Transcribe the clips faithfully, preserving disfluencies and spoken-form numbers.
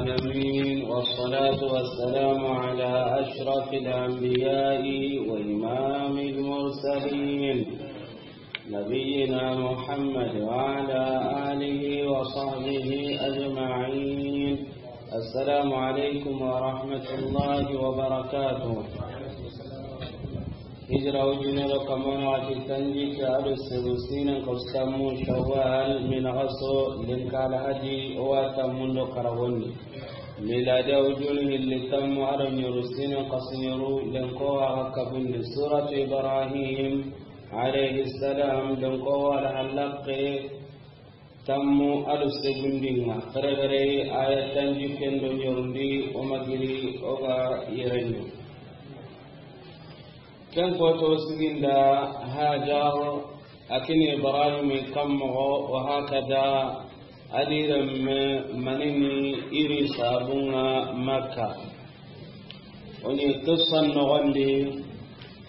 العالمين، والصلاة والسلام على أشرف الأنبياء وإمام المرسلين، نبينا محمد وعلى آله وصحبه أجمعين. السلام عليكم ورحمة الله وبركاته. Hijira ujunero kamano ati tanji ke ado segu sinen ko sammu Shawwal, min gaso linkal hadi o wa tammundo karagondi. Miladi ujunu hilli tammu ado nyuru sinen ko sinyuru lenko wa kabundi. Suratu Ibrahim alayhi salam, lenko wa halaqe tammu ado segundinga. Kare kare aya tanji kendo nyorundi o magiri o ga yerendu. Ken koto siginda Hajar, a kini Ibrahim kammogo, wa hakada, a di remme manini iri sabunga Makka. Oni qissan nogondi,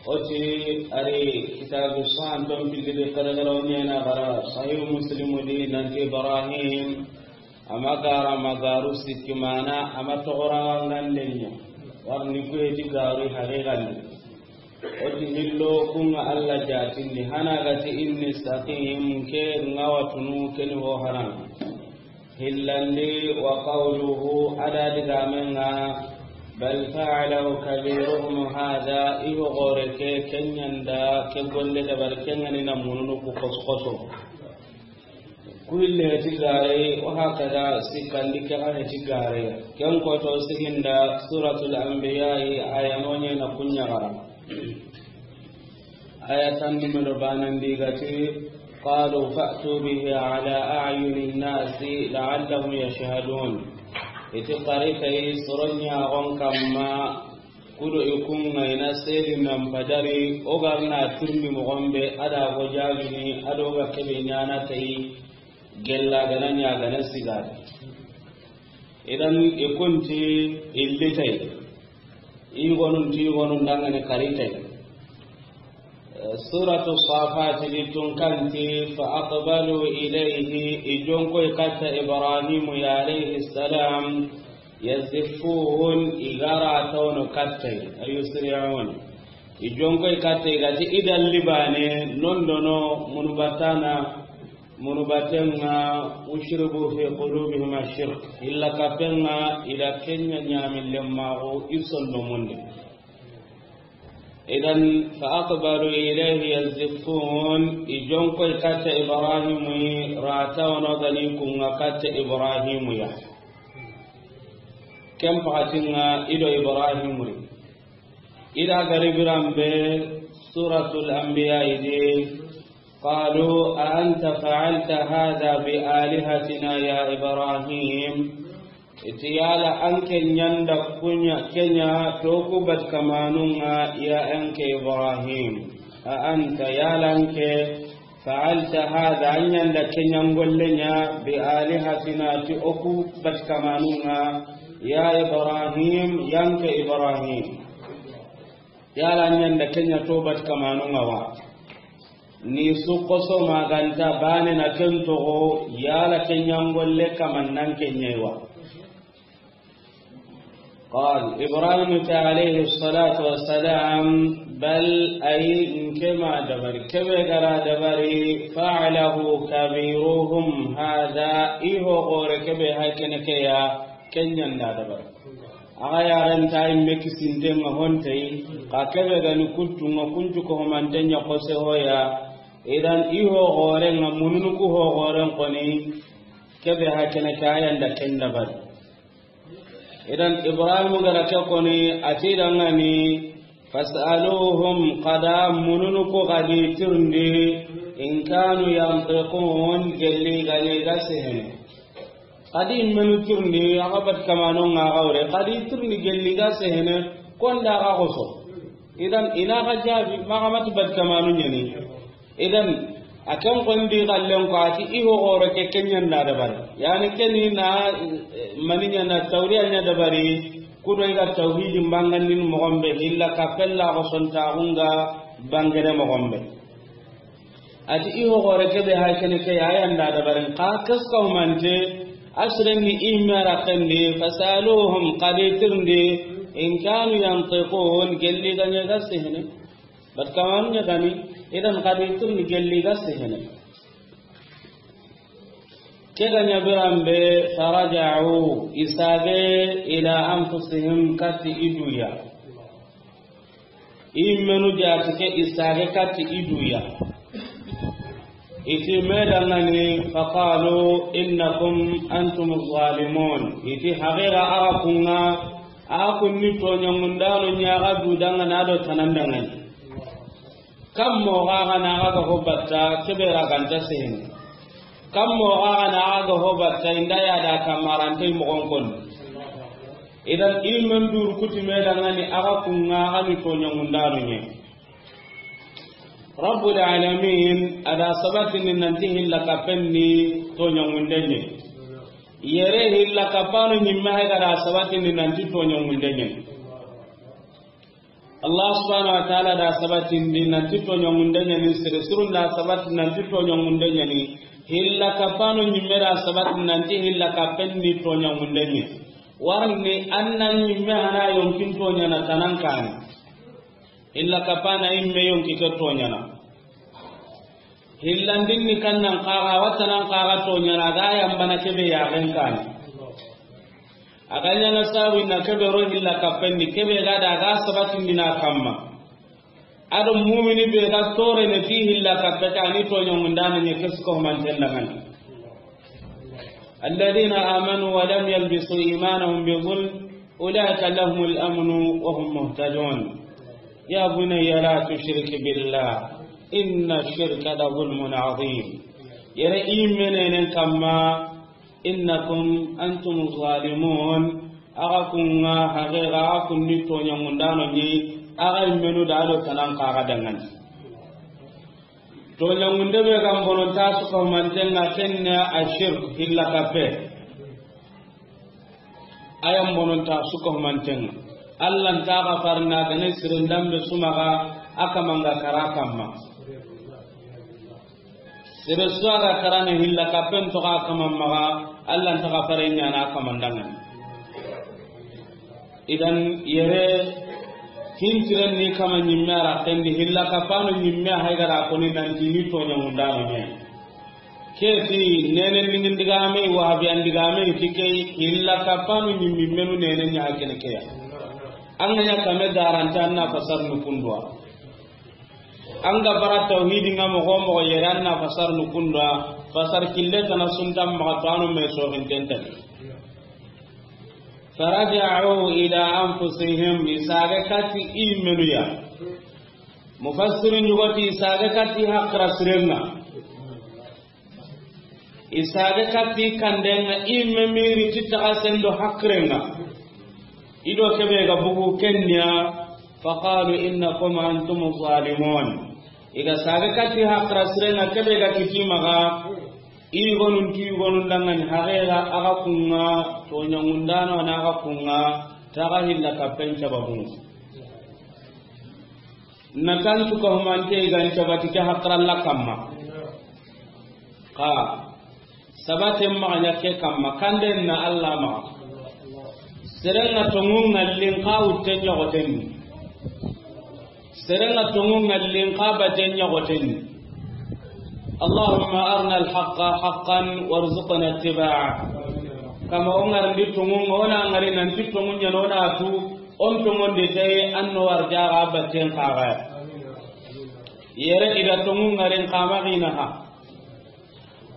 oti ari kitabu san ton pillidi kare kare oni na gara Sahih Muslim di nanti Ibrahim ama gara magaru sikki mana ama togora ngandenya. Warni kuye ti garu haqiqan. Oti hillo kunga Allah jatindi hana gati inni saqim ke ngawatunu keni ho haram. Hillandi wa qawluhu, ada digamenga, bal fa'alahu kabiruhum hadha, iho gore ke kenyanda ke golle da bar kengani na mununu ku koskoso. Kuille heti gare, wa hakada sikandi ke ga heti gare. Ken koto siginda Suratul Anbiya, aya nonye na kunya gara. Aya tan numero banandi gati, qalu fa'tu bihi ala a'yunin nasi la'allahum yashhadun. Iti qarita yi soronya gon kamma. Kudo i kunga ina seri nan padari, o garna tirndi mogombe, ada go jagini, ado ga kebe nyana tayi, gella gana nya gana sigari. Idan i kunti illitay. I gonun ti gonun dangane karitay. Suratu Safat di tun kanti, fa aqbalu ilayhi, i jonko i katta Ibrahim ya alayhi salam, yazifun, i gara tawno katta, ay yusri'un. I jonko i katta, i gati i dalli bane, nondono, munu batana, munu batenga, ushribu fi qulubihim ash-shirk. Illa kapenga, ila kenya nyami lemmago, i sonno munde. Idan, fa aqbalu ilayhi yazifun, i jonko i katta Ibrahim yi, rata wono gani kunga katta Ibrahim ya. Ken pakatinga ido Ibrahim yi. Ida gari birambe Suratul Anbiya idi, qalu a anta fa'alta hadha bi alihatina ya Ibrahim. Iti yala anke nyanda kunya kenya toku bat kamanunga ya anke Ibrahim. A anta yala anke fa'alta hadha, anyanda kenya ngollenya bi alihatina ti oku bat kamanunga ya Ibrahim, yanke Ibrahim. Yala anyanda kenya to bat kamanunga wa. Ni su koso maganta bane na ken togo, yala kenya ngolle kamannan kenyaiwa. Qal, Ibrahim ta alayhi salatu wassalam, bal ay nkema dabari, kebe gara dabari, fa'alahu kabiruhum hadha, iho gore kebe hakene keya, kenyanda dabari. Aga yaren ta imme kisinten nga hontei, ka kebe gani kuttu nga kuncu ko homantenya kose hoya. Idan iho gore nga mununu ku ho goren koni, kebe hakene kayanda kenda bari. Idan Ibrahim gara ke koni, ati dangani, fas'aluhum, kada mununu ku gadi tirndi, in kanu yantiqun, gelli gani ga sehene. Kadi menu tirndi, aga bat kamano nga gawre, kadi tirndi gelli ga sehene, konda ga koso. Idan ina ga jabi, maga mati bat kamano nyani. Idan, a ken kondi gallen ko ati iho gore ke kenyanda dabari. Yani keni na, eh, maninya na tawriya nya dabari, kudo iga tawhidi mbangandin mogombe, illa kapella ko sonta hunga bangere mogombe. Ati iho gore kebe hakene ke yayanda dabari, ka keska humante, Asiren ni i me ra kendi, fasaluhum, xa di tirindi, in kanu yantiqun, gelli ga ɲa ga sehene. Bat kamanu ɲa gani, idan xa di tirindi gelli ga sehene. Ke ga ɲa biranbe, faraja'u, i sage, ila anfusihim, kati i du ya. I menu jati ke i sage kati i du ya. I ti me dangani, faqalu innakum antum zalimun. I ti haqiqa axa kunŋa, axa kunni toɲangundano ɲa, axa du dangana do tanan dangani. Kam mo xa ga na axa ga ho batta, kebe ra ganta sehene. Kam mo xa ga na axa ga ho batta, inda ya da kamarante moxon kon. Idan i men duru kuti me dangani, axa kunŋa, axa ni toɲangundano ɲa. Rabbul alamin, a da sabatini nanti hilla kapen ni toɲangunde ɲa. Yere hilla kapano ɲimme hay ga da sabatini nanti toɲangunde ɲa. Allah subhanahu wa ta'ala da sabatindi nanti toɲangunde ɲa ni, sere sirun da sabati nanti toɲangunde ɲa ni, hilla kapano ɲimme da sabati nanti hilla kapen ni toɲangunde ɲa. Warni anna ɲimme hana yonkin toɲana tanan kani. Hilla kapana imme yonki ke toɲana. Hillandin ni kannan kaga, watanan kaga toɲana, ga yambana kebe yaxen kani. A ga ɲana sabu na kebe ro hilla kapen ni, kebe ga da ga sabatindina kamma. Ado mumini be ga tore ne ti hilla kape ka ni toɲangundano ɲa, kesu ko manten dangani. الذين آمنوا ولم يلبسوا إيمانهم بظلم أولئك لهم الأمن وهم مهتدون. يا بني لا تشرك بالله إن الشرك لظلم عظيم. Yere i menenen kamma, innakum antum zalimun. Axa kunŋa, haqiqa axa kunni toɲangundano ɲi, axa i menu da do tanan kaga dangani. Toɲangunde be ga n bononta su ko mantenŋa, kenne a shirk, hilla kape. Ayan bononta su ko mantenŋa. Allah nta ga farna gane sirin dambe sumaga, a kamanga kara kamma. Sere su a ga karana hilla kapen to ga kaman maga, Allah nta ga fare ɲana kaman dangani. Idan yere hintiren ni kama ɲimme a ra kendi, hilla kapano ɲimme hay ga da koni nanti ni toɲangundano ɲa. Ke ti nene ningin digame, wahabiyan digame ti ke, hilla kapano ɲimme menu nene ɲa kene ke ya. An ga ɲa kame daranta, an na fasar nu kundwa. An ga bara tawhidi nga moxo moxo yere, an na fasar nu kundwa, fasar kille tana suntan maxa to, anu me soxinten tani. Faraja'u ila anfusihim, i sage kati i menu ya. Mufassirin yugoti i sage kati haqira sirenŋa. I sage kati kandenŋa, i me miri ti taxa sendo haqirenŋa. I do kebe ga bugu kenya, faqalu innakum antum zalimun. I ga sage kati haqira sirenŋa, kebe ga kiti maxa, i gonun ti gonun dangani, haqiqa axa kunŋa toɲangundano na, axa kunŋa taxa hilla kapen sababun. Na tantu ka humante i gan cabati ke haqiralla kamma. Xa sabaten maxa ɲa ke kamma, kanden na Allah maxa. Serenŋa tonŋu ŋallin xa wutte ɲoxotenni. Serenŋa tonŋu ŋallin xa baten ɲoxotenni. اللهم أرنا الحق حقا وارزقنا اتباعه. Kama o ŋarindi tonŋu, o na ŋari nanti tonŋu ɲa no, o na tu, on tonŋondi tayi, an no warjaxa batten xaxaya. Yere i da tonŋu ŋarin xama xina ha.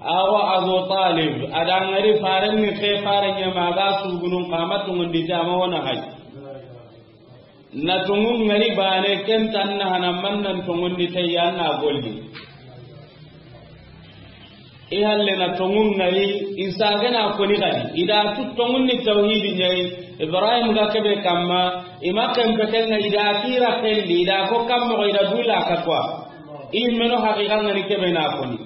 Awa Abu Talib, a da ŋari faren ni xe faren ɲa ma ga sugunun xama tonŋondi tama wona hay. Na tonŋu ŋari bane, ken tan na hana man nan tonŋondi tayi, an na golli. I halle na tonŋu ŋari, i sage na koni gadi. I da tu tonŋun ni tawhidi ɲayi, Ibrahim ga kebe kamma, i ma ken petenŋa, i da kira kelli, i da ko kammo, i da dula ka kwa. I meno haqiqa ŋani kebe na koni.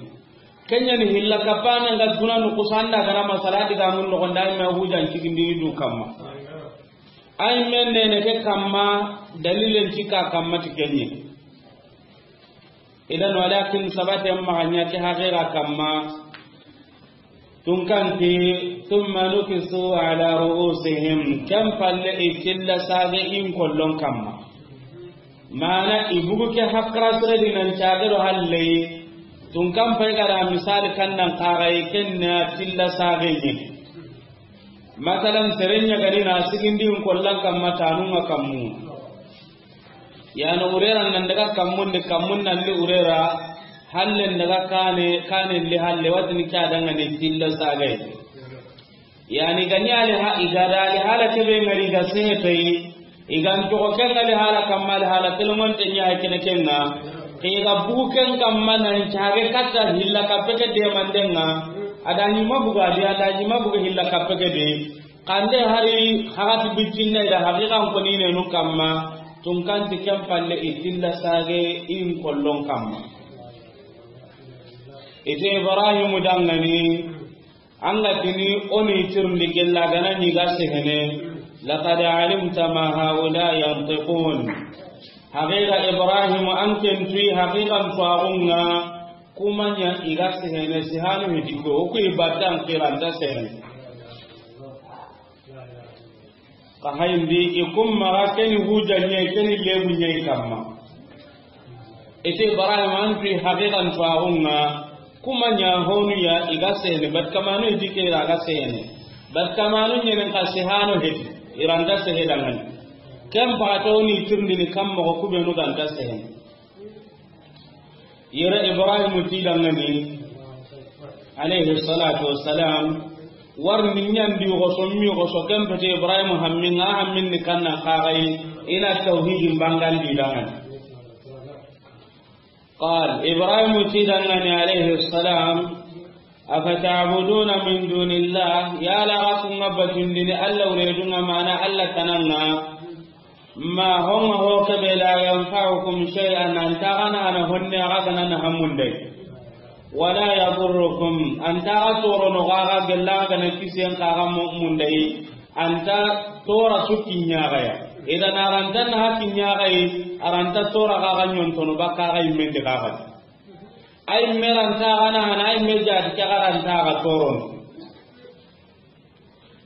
Kenya ni hilla kapana nga duna nu kusanda gara masala diga mun no gonda me hujan cigindini du kamma. Ay men nene ke kamma, dalilen cika kamma ti kenye. Idan walakin sabate maxa ɲa ke haqiqa kamma. Tunkanti, ثم نكسوا على رؤوسهم, ken palle i tilla sage in kollon kamma. Mana i bugu ke hakra sere di nan cage do halle. Tunkan pay gara misali kan nan kaga i ken na tilla sage ni. Masalan, sere ɲa gani na sigindi in kollan kamma tanun ŋa kammu. Yani urera nan daga kammun de, kammun nan li urera, halle daga kane, kane li halle, watini kya danga ni tilla sage. Yani gani ali ha, igada ali hala kebe ngari ga sehetayi, igan to ko kenga ali hala kamma ali hala telongon te ɲa kene kenga, ke ga bugu ken kamma nan cage katta hilla kappe ke de mandenga, adani mabuga de, adani mabuga hilla kappe ke de. Kande hari hagati bitinna ida haqiqan konine nu kamma, tunkanti ken palle i tilla sage in kollon kamma. Ite Ibrahimu dangani, an ga tini o ni tirindi gella gana ni ga sehene, لقد علمت ما هؤلاء ينطقون. Haqiqa Ibrahimu an ken tuyi haqiqan tuwaxunga, kuma ɲa i ga sehene, sehanu hiti ko, o ku i battan kiranta sehene. Ka hayindi i kun maxa keni hujja ɲa, keni lebu ɲa i kamma. Ite Ibrahim an tuyi haqiqan tuwaxunga, kuma ɲa honu ya i ga sehene, bat kamanu hiti ke i ra ga sehene. Bat kamanu ɲenen ka sehano heti, i ranta sehe dangani. Ken paxato ni tirindini kam moxo kubenu ganta sehene. Yere Ibrahimu ti dangani, alayhi salatu wassalam, warni ɲandi xoso mi xoso ken pete Ibrahimu hamminga, hamminni kanna kaxayi, ina tawhidin bangandi dangani. Qal, Ibrahimu ti dangani alayhi salam, أفتعبدون من دون الله, yala xa kunga batundini Alla wuredunga, mana Alla tananga, ma honga ho kebe, لا ينفعكم شيئا, anta gana ana honne, aga gana na hamundai, ولا يضركم, anta ga torono, aga gella gana kisen kaga mundai, anta tora sukki ɲagaya. Idan aranta na hakki ɲagayi, aranta tora kaga ɲontono baka ga immende kaga. Ay meranta gana hana, ay me jadi ke garanta ga toron.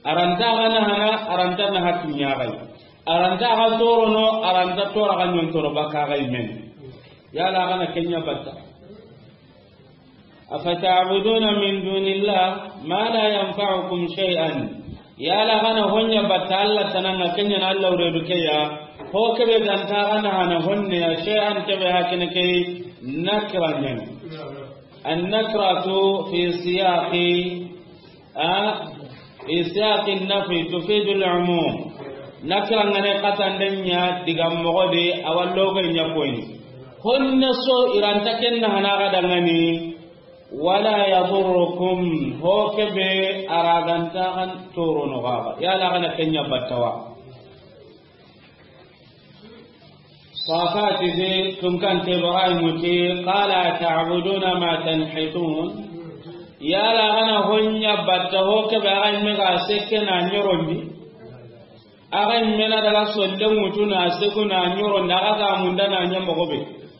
Aranta gana hana, aranta na hakki ɲagayi. Aranta ga torono, aranta tora ga ɲontono baka ga imen. Yala gana kenya batta. أفتعبدون من دون الله ما لا ينفعكم شيئا. Yala gana honya batta Alla tananga, kenya na Alla wuredu keya. Ho kebe ganta gana hana honne ya, shay'an kebe hakene ke nakra ɲan. النكرة في سياق، آه، في سياق النفي تفيد العموم. Nakra ngane katandenya diga mogodi awallogo nya koyni. Honne so iranta kenna hana ga dangani. ولا يضركم, ho kebe araganta kan torono gaba. Yala gana kenya battawa. Safati de tunkante Ibrahimu ti, قال أتعبدون ما تنحتون. Yala gana honya batta ho kebe aga imme ga sekke na ɲorondi. Aga imme na daga solle mutu na seku na ɲorondi, aga ga munda na ɲa mogobe.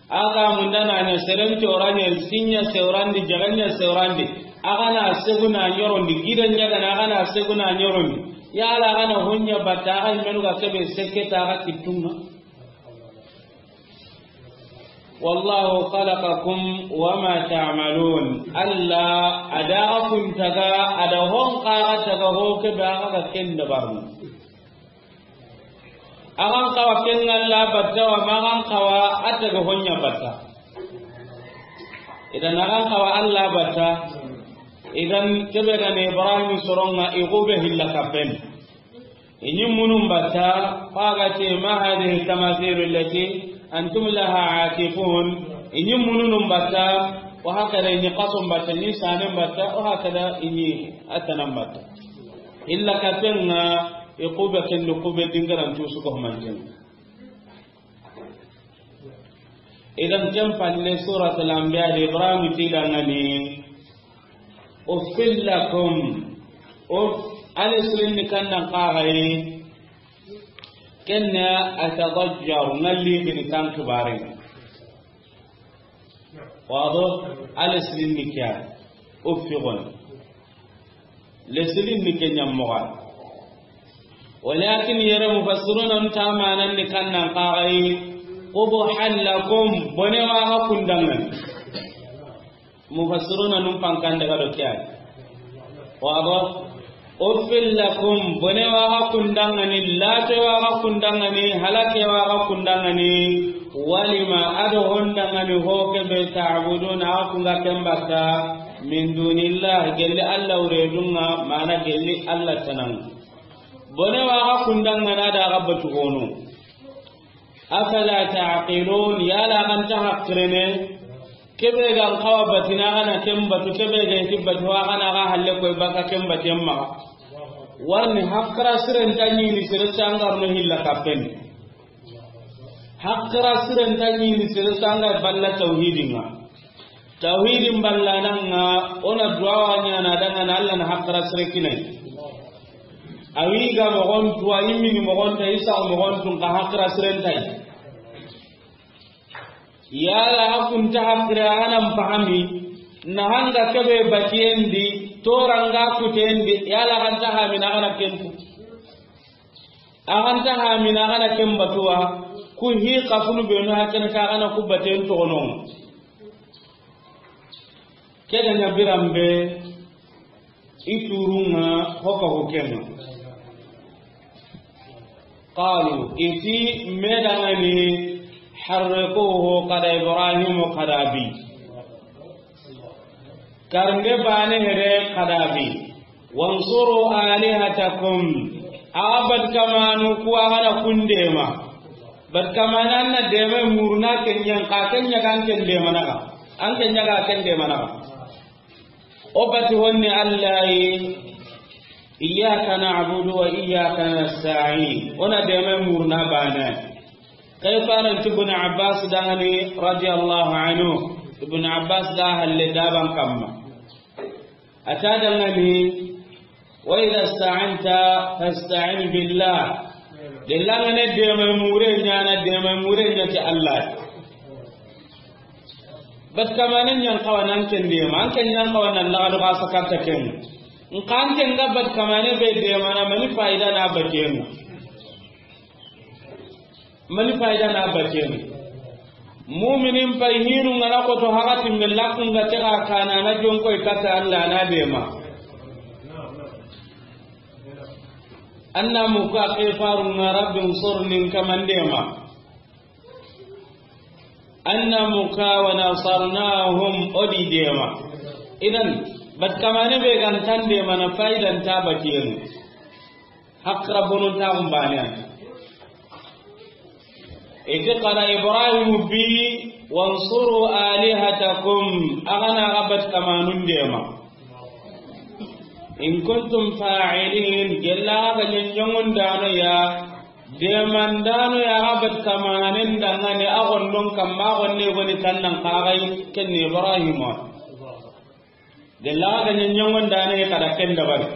Aga munda na ɲa seren coranya, sinya seurandi, jaganya seurandi. Aga na seku na ɲorondi, gida ɲa gana, aga na seku na ɲorondi. Yala gana honya batta, aga immenu ga kebe sekke ta aga kittunga. والله خلقكم وما تعملون. Alla adaga kuntaga, ada hon kaga taga ho kebe aga ga kenda barno. Agan kawa ken Alla batta wa, magan kawa ataga honya batta. Idan agan kawa Alla batta. Idan kebe gane Ibrahim soronga igube hilla kapen. Inyi munun batta, fagati, ما هذه التماثيل التي أنتم لها عاكفون. Inyi munun batta, wa hakada inyi qasun batta, inyi sanen batta, wa hakada inyi atanan batta. Illa kapenga, ikube kendu kube dingaran tusu ko manten. Idan ken palle Suratul Anbiya de Ibrahim ti dangani, أف لكم. Uf, alif silinni kannan kagaye, kenna atadajjar, ngalli bini kan kibare. Wado, alif silinni kya, uf fi gon. Lesilin ni ke ɲa moxo. Walakin yere mufassiruna nta manan ni kannan kagai, qubuhan lakum, bone wa ga kundangani. Mufassiruna nun pankan daga do kiyai. Wabo, uffil lakum, bone wa ga kundangani, late wa ga kundangani, halake wa ga kundangani, walima ado hondangani ho kebe ta'buduna, a kunga kembata, min dunillah, gelli Allah uredunga, mana gelli Allah tananga. Bone wa ga kundangana da ga batu gono. Afala ta'qilun, yala ganta hakrene, kebe gan kawa batina gana ken batu, kebe gan ti batu wa gana ga halle koy baka ken baten maxa. Warni hakra siren tanni ni sere sangar no hilla kapen. Hakra siren tanni ni sere sangar balla tauhidinga. Tauhidin ballananga, ona duwa wa ɲana dangana Allah na hakra sire kinai. Awi ga mogon tuwa, imini mogon ta, isa mogon tun ka hakra siren tai. Yala hakunta hakra anan pahami, na hanga kebe batiyendi, toranga kutendi, yala hanta hamina kana kempu. Aganta hamina gana ken batuwa, ku hi kafunu benu hakene ka gana ku baten togono. Ke ga ɲa biranbe, i turunga hoka hukenga. Qalu, iti medangani, harriquhu, kada Ibrahimu kada bi. Karnde bane here kadabi. Wansuru alihatakum. Abad kamanu kuwa gana kundema. Bad kamana na dema murna kenyan ka kenya kan kendema naga. An kenya ka kendema naga. O bati honni Allahi. Iyyaka na'budu wa iyyaka nasta'in. Ona dema murna bana. Kay faran ti Ibn Abbas dangani radiyallahu anhu. Ibn Abbas da halle daban kamma. Ata dangani, wa idha ista'anta fasta'in billah. Dellangane dema mure ɲana, dema mure ɲa ti Allah. Bat kamanen ɲan kawa nan ken dema, an ken ɲan kawa nan laga doga sakata ken. Nkan ken ga bat kamane be dema na mani faida na batenga. Mani faida na batenga. Muminin pay hinu ngana koto hagati me lakun ga tega kana na jonko ikata Allah na dema. Anna muka kefarunga rabbi unsurni kaman dema. Anna muka wa nasarnahum odi dema. Idan, bat kamane be gan tan dema na faidan ta batiyen. Hakra bonun ta umbane. Iti qala Ibrahim bi wansuru alihatakum. Agana ga bat kamanun dema. In kuntum fa'ilin, gella ga nyanyangon dano ya, demandano ya ga bat kamanen dangane agon don kamma agon ne goni tannan kagai ken Ibrahim. Gella ga nyanyangon dano ya kada ken dabari.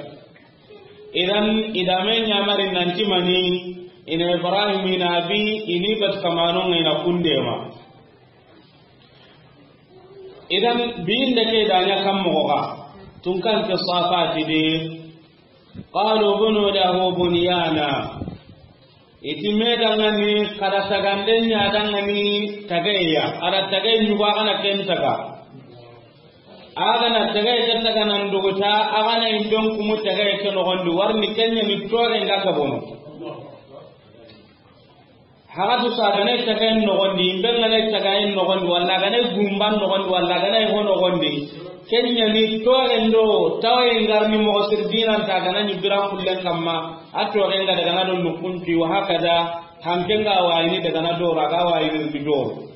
Idan idame nyamari nanti mani ina Ibrahim ina bi ini bat kamanon ina kundema. Idan, binde ke danya kam moxo xa. Tun kan ke safati de. Qalu bunu lahu bunyana. Iti me dangani, kada tagande ɲa dangani tageya. Ada tagay ɲugo agana ken taga. Agana tagay ke taga nan duguta, agana indon kumu tagay ke nogondi. Warni kenya ni tore nga gabono. Hagatu sa gane taga en nogondi, imbe gane taga en nogondi, walla gane gumban nogondi, walla gane ho nogondi. Kenya ni toren do tawaye ngarni moxo sir dinan ta gana ni bira kullen kamma, a toren ga daga na do nukunti wa hakada, hanken ga wayini daga na do raga wayini bi do.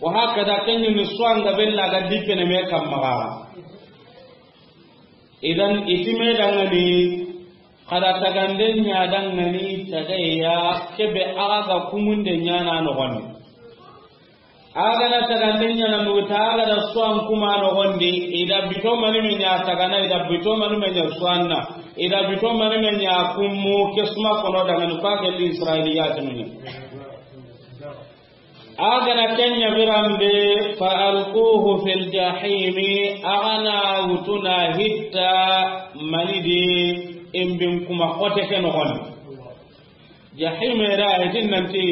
Wa hakada kenya ni swanga bella ga dipene me kamma ga. Idan itime dangani, kada tagande ɲa dangani, tagaya kebe aga ga kumunde ɲana nogondi. Aga na tagande ɲana nuguta, aga da suwan kuma nogondi, ida bito mani me ɲa tagana, ida bito mani me ɲa suwanna, ida bito mani me ɲa kumu, kesuma kono dangani, kwa gelli Israiliyatinu ɲa. A ga na ken ɲa biranbe, fa alquhu fil jahimi, a ga na wutuna hitta mani di, imbin kuma xote ke noxon. Jahime ra, i ti nanti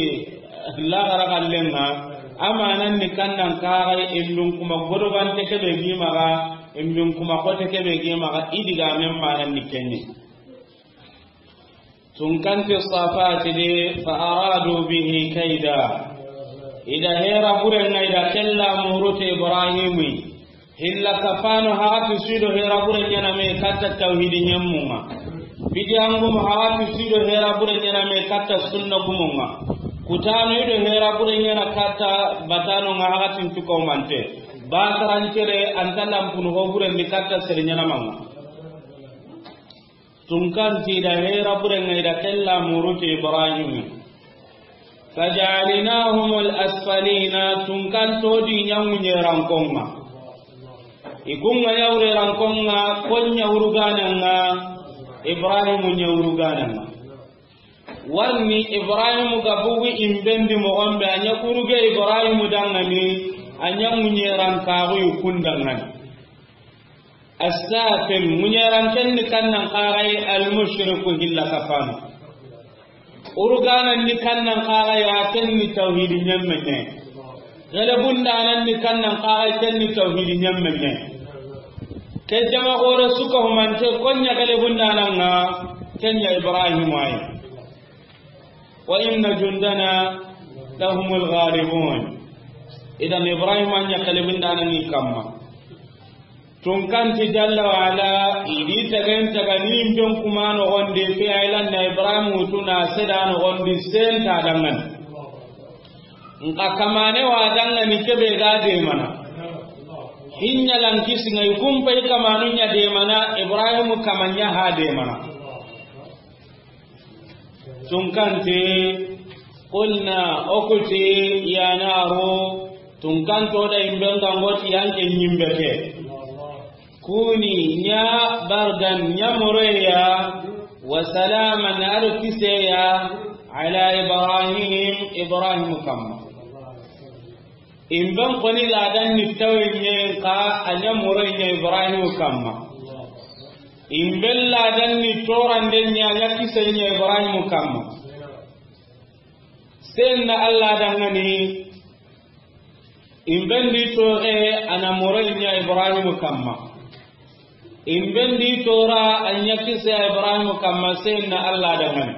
laxara xallen ŋa, a manan ni kannan kaxay, imbin kuma godogante ke be gi maxa, imbin kuma xote ke be gi maxa, i digamen manan ni ken ɲi. Tunkanti Safati de, fa aradu bihi kaida. I da hera buren ŋa, i da ken la muruti Ibrahimi. Hilla kapano hagati su i do hera buren ɲaana me katta tawhidi ɲemmun ŋa. Bidiyan gumu hagati su i do hera buren ɲaana me katta sunna gumun ŋa. Kutano i do hera buren ɲaana katta batano ŋa hagatin tukaumante. Batarancere anta lampunu ho buren ni katta sere ɲaana man ŋa. Tunkanti da hera buren ŋa, i da ken la muruti Ibrahimi. Fajalinahumul asfalina, tunkanto di ɲa ŋuɲerankon ŋa. I kun ŋa ɲa wurerankon ŋa, kon ɲa wuruganan ŋa, Ibrahimu ɲa wuruganan ŋa. Warni Ibrahimu ga bugu imbendi moxon be, a ɲa kuruge Ibrahimu danŋani, a ɲa ŋuɲerankaxu i kun danŋani. Assafil, ŋuɲeran ken ni kannan kaxay, almushriku hilla kapano. Uruganan ni kannan kaxay, a ken ni tawhidi ɲemmeɲe. Gelebundanan ni kannan kaxay, ken ni tawhidi ɲemmeɲe. Ke jama xore suka humante, kon ɲa gelebundanan ŋa, ken ɲa Ibrahimu ay. Wa inna jundana lahumul ghalibun. Idan Ibrahima ɲa gelebundanan ni kamma. Tunkanti jalla wa ala, i di tagen taga ni imben kuma noxon di, fi aylan na Ibrahim wutuna seda noxon di, senta danŋani. Nka kamane wa danŋani kebe ga demana. Hinya lan kisi ŋa i kumpa i kamanu ɲa demana, Ibrahim kama ɲa ha demana. Tunkanti, qulna, o ku ti, ya naru, tunkanto da imben ga ŋa o ti yanke ɲimbe ke. Kuni, ɲa bardan, ɲa moroya, wa salaman, a do kiseya, ala Ibrahim, Ibrahim kamma. Imben koni ladan ni tawe ɲe, nka a ɲa moroy ɲa Ibrahim kamma. Imben ladan ni torande ɲa, a ɲa kise ɲa Ibrahim kamma. Senna Allah danŋani, imben di tore a na moroy ɲa Ibrahim kamma. Imben di tora a ɲa kise Ibrahim kamma, senna Allah danŋani.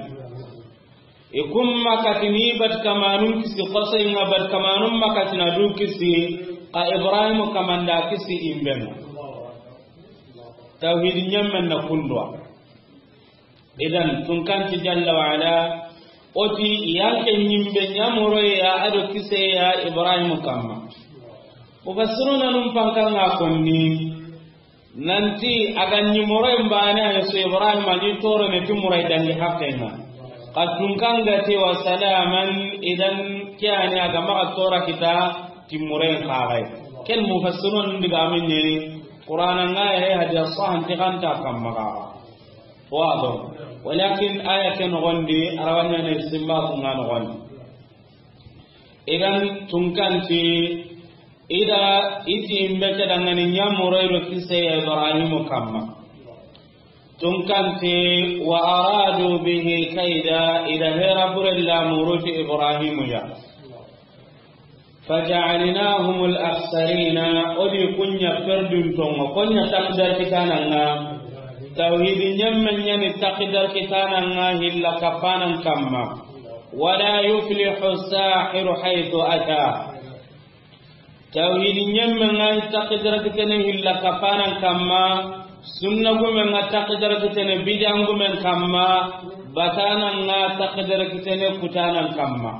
I kumma katini bat kamanun kisi xosay ŋa, bat kamanun ma katina du kisi, ka Ibrahim kamanda kisi imben. Tawhidi ɲemmen na kundwa. Idan tunkanti jalla wa ala, o ti yanke ɲimbe ɲa moroya a do kiseya Ibrahim kamma. Mufassiruna num pankan ŋa konni. Nanti a ga ɲi moroyen bane a so Ibrahim a ni toro ne ti muray dangi haqqe ŋa. Ka tunkan ga ti wa salaman, idan ke a ni a ga maxa tora kita ti muray xaxay. Ken mufassirun diga min ni Qur'ana ŋa ya hadiya sahan ti kanta kamma ga. Wado. Walakin aya ken noxon di, arabanne ne simba ku ŋa noxon di. Idan tunkanti, i da i ti imbe ke danŋani ɲa moroy do kise ya Ibrahimu kamma. Tunkanti, wa aradu bihi kaida, i da hera buren la muruti Ibrahimu ya. Faja'alnahumul akhsarina, o di ku ɲa perdun tonŋa, ku ɲa takdar kitanan ŋa. Tawhidi ɲemmen ɲa ni takdar kitanan ŋa hilla kapanan kamma. Wala yuflihu sahiru haythu ata. Tawhidi ɲemmen ŋa takdar kitene hilla kapanan kamma. Sunna gumen ŋa takdar kitene bidan gumen kamma. Batanan ŋa takdar kitene kutanan kamma.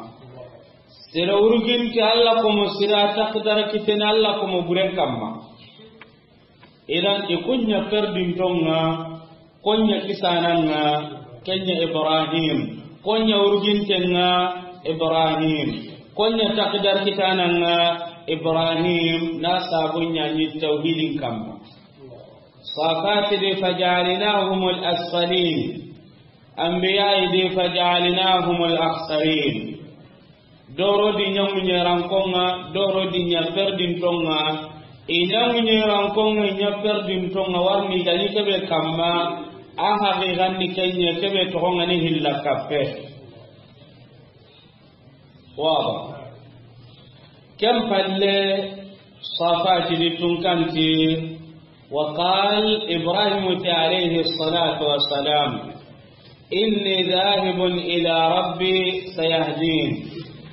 Sere uruginte Allah komo sira takdara kitene Allah komo buren kamma. Idan i ku ɲa perdintonŋa, ku ɲa kisananŋa, ken ɲa Ibrahim, ku ɲa urugintenŋa Ibrahim, ku ɲa takdar kitananŋa Ibrahim, na sabu ɲa ni tawhidin kamma. Safati de, faja'alnahumul asfalin. Anbiya de, faja'alnahumul akhsarin. Doro di ɲa ŋuɲerankonŋa, doro di ɲa perdintonŋa. I ɲa ŋuɲerankonŋa, i ɲa perdintonŋa, warni gani kebe kamma, a haqiqan ni kenya kebe toxonŋa ni hilla kappe. Waba. Ken palle, Safati di tunkanti, وقال إبراهيم عليه الصلاة والسلام: إني ذاهب إلى ربي سيهدين.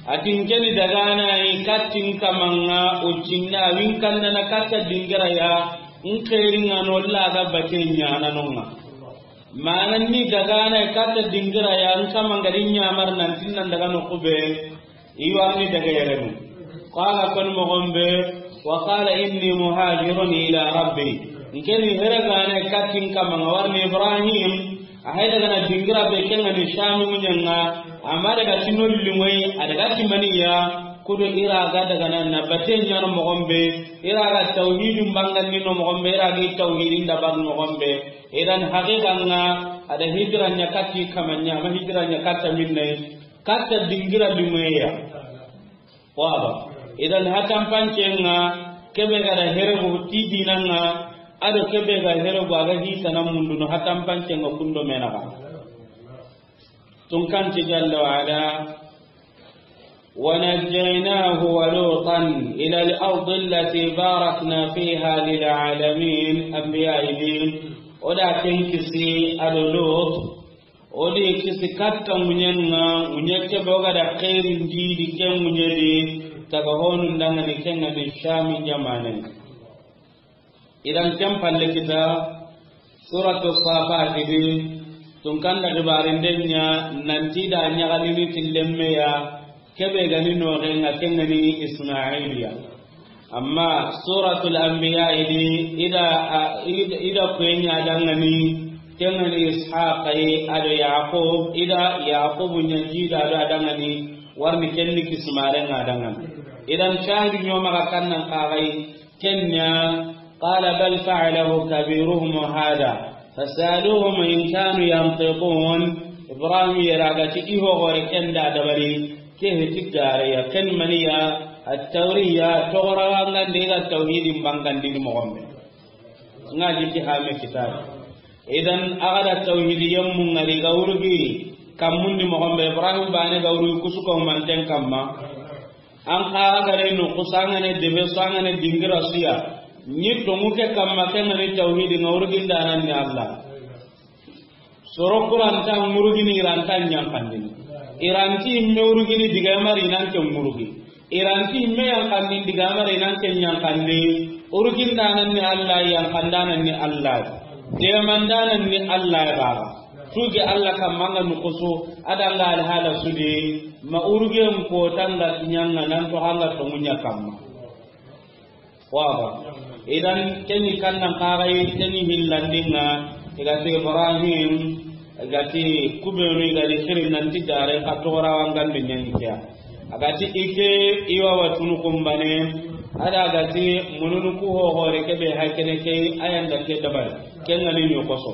A ti n ke ni dagana yi katta n kamanŋa, o cinna win kannana katta dingira ya, n xeerinŋa no laga bate ɲananonŋa. Mana ni dagana yi katta dingira ya, n kamanŋa di ɲamar nan tinnan daga no kube. I warni daga yerenu. Qala, kon moxon be, wa qala inni muhajirun ila rabbi. N ke ni here gane katta n kamanŋa, warni Ibrahim, a hay daga na dingira be kenŋa ni Shami ŋuɲenŋa, amma daga ti no limoy, a daga ti maniya, kudo i ra ga daga na, na bate ɲano moxon be, i ra ga tawhidin bangandi no moxon be, i ra ga tawhidin da ban moxon be. Idan haqiqanŋa, a da hijira ɲa katta i kamanŋa, amma hijira ɲa katta minne. Katta dingira limoye ya. Waba. Idan hatanpancenŋa, kebe ga da heregu ti dinanŋa, ado kebe ga heregu a ga hitana mundu no hatanpancenŋa kundo menaga. Tunkanti jalla wa ala, ونجيناه ولوطا إلى الأرض التي باركنا فيها للعالمين. Anbiya yi di, o da ken kisi ado Lut, o di kisi katta ŋuɲenŋa, ŋuɲe kebe o ga da xeerin di, di ken ŋuɲe di, taga honun dangani kenŋa ni Shami jamanen. Idan ken palle kita, Suratu Safati di, tunkanda xibaarinden ɲa, nanti da ɲaxalini ti lemme ya, kebe gani noxenŋa kenŋa ni Ismailiya. Amma Suratul Anbiya di, i da, a, i da, i da kuye ɲa dangani, kenŋa ni Ishaqa yi, ado Yaqub, i da Yaqubu ɲa jida do a dangani, warni kenni kisimarenŋa dangani. Idan shahidi ɲoma ga kannan kaxayi, Kenya, قال بل فعله كبيرهم هذا فاسألوهم إن كانوا ينطقون. Ibrahim yera ga ti i ho gore kenda dabari, ke heti gare ya, ken maniya, at-tawriya, togorawangande ga tawhidin bangandini moxon be. Nga jiti hame kitabe. Idan a ga da tawhidi yemmu ngari ga wurugi kammundi moxon be, Ibrahim bane ga wurugi kusuko manten kamma. An xa ga re no kusangane debe sangane dingira siya. Ni tongu ke kamma ke ngani tawhidi nga wurugindanan ni Allah. Soro kuranta ngurugini iranta ɲankandini. Iranti imme urugini digamari nan ke ngurugi. Iranti imme yankandini digamari nan ke ɲankandi. Urugindanan ni Allah, yankandanan ni Allah. Demandanan ni Allah baba. Tuge Allah kamma nga nukusu, adanga alhala sudi, ma urugen kotanga tiɲanga nan to hanga to munya kamma. Waba. Idan keni kannan kagai, keni hillandinga, igati Ibrahim, igati kubenu, igati sirin nanti dare ka togorawangandi ɲani kiya. Agati ike iwa watunu kumbane, ada agati mununu ku hohore kebe hakene ke ayanda ke dabari. Kengani ɲokoso.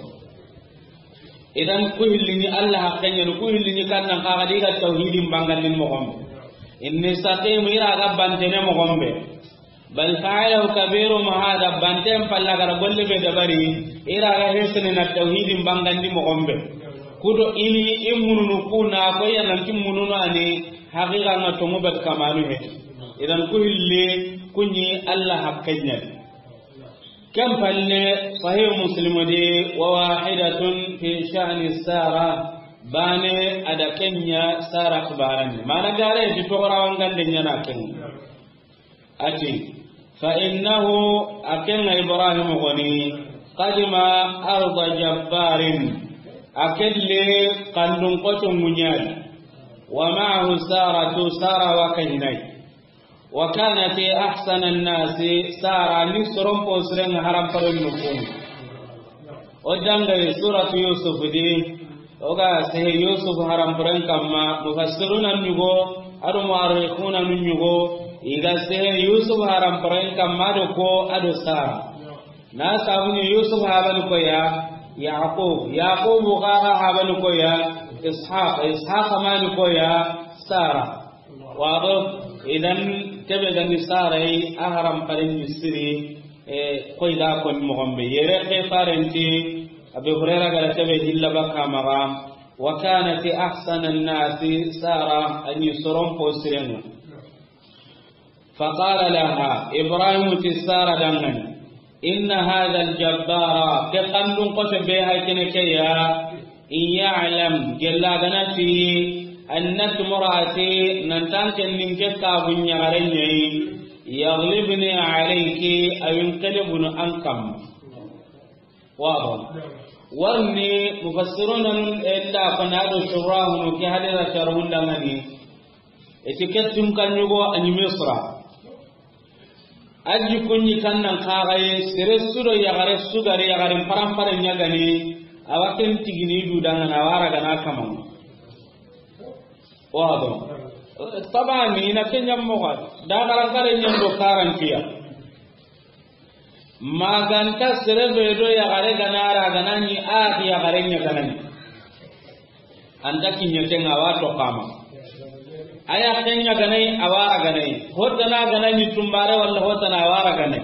Idan ku hillini Allah haqqeɲani, ku hillini kannan kaga diga tawhidin bangandin moxon be. Inni saqim ira ga bantene moxon be. Bal fa'alahu kabirum hada, banten palla gara golle be dabari, ira ga hesene na tawhidin bangandi moxon be. Kudo ini i mununu kuna ko ya nanti mununu ani haqiqa nga tongu be kamanu he. Idan ku hilli kunyi Allah haqqeɲani. Ken palle, Sahih Muslim di, wa wahidatun fi sha'ni Sara, bane ada kenya Sara kibaran. Mana gare di togorawangande ɲana ken. Ati, fa innahu, akenga Ibrahim goni, qadima arda jabbarin, akelle kandun koto munyal, wa ma'ahu Saratu, Sara wa kahinai. Wa kanat ahsana an-nasi, Sara ni soron po siren haram paren nukun. O dangay suratu Yusuf di, o ga sehe Yusuf haram paren kamma, mufassiruna nyugo, ado muarrikhuna nyugo, iga sehe Yusuf haram paren kamma do ko, ado Sara. Na sabuni Yusuf habani ko ya, Yaqub, Yaqub ga habani ko ya, Ishaq, Ishaq mani ko ya, Sara. Wado, idan kebe ga ni sarai a haram paren ni siri, e, koy da ko ni moxon be. Yere ke farenti, Abi Hurayra ga da kebe hilla baka maxa, wa kanat ahsana an-nasi Sara, a ni soron po sirenga. Faqala laha, Ibrahim ti Sara dangani, inna hadha al-jabbara, ke kandun kote be hay kene ke ya, in ya'lam, gella ganati, annaki murati, nan tanken nin ke kabun ɲagaren ɲayi, yaglibni alayki, a yunqalibun an kam. Wado. Warni mufassiruna nun illa fanado shurahunu ke hadira sharhun dangani. Eti ke tun kan yugo a ni Misra. Aji kunni kan nan kaxaye, sere sudo yaxare sugari yaxaren parampare ɲagani, awa ken tigini du dangana, a wara gana kaman. Wado. Tabani, ina ke ɲammoxa. Da xarankare ɲen do karantiya. Maganta sere be do yaxare gana ra gana ni a yaxare ɲa gana ni. Anta kiɲe ke nga wa to kama. Aya ke ɲa gana ni, a wara gana ni. Hotana gana ni tumbare wala hotana a wara gana ni.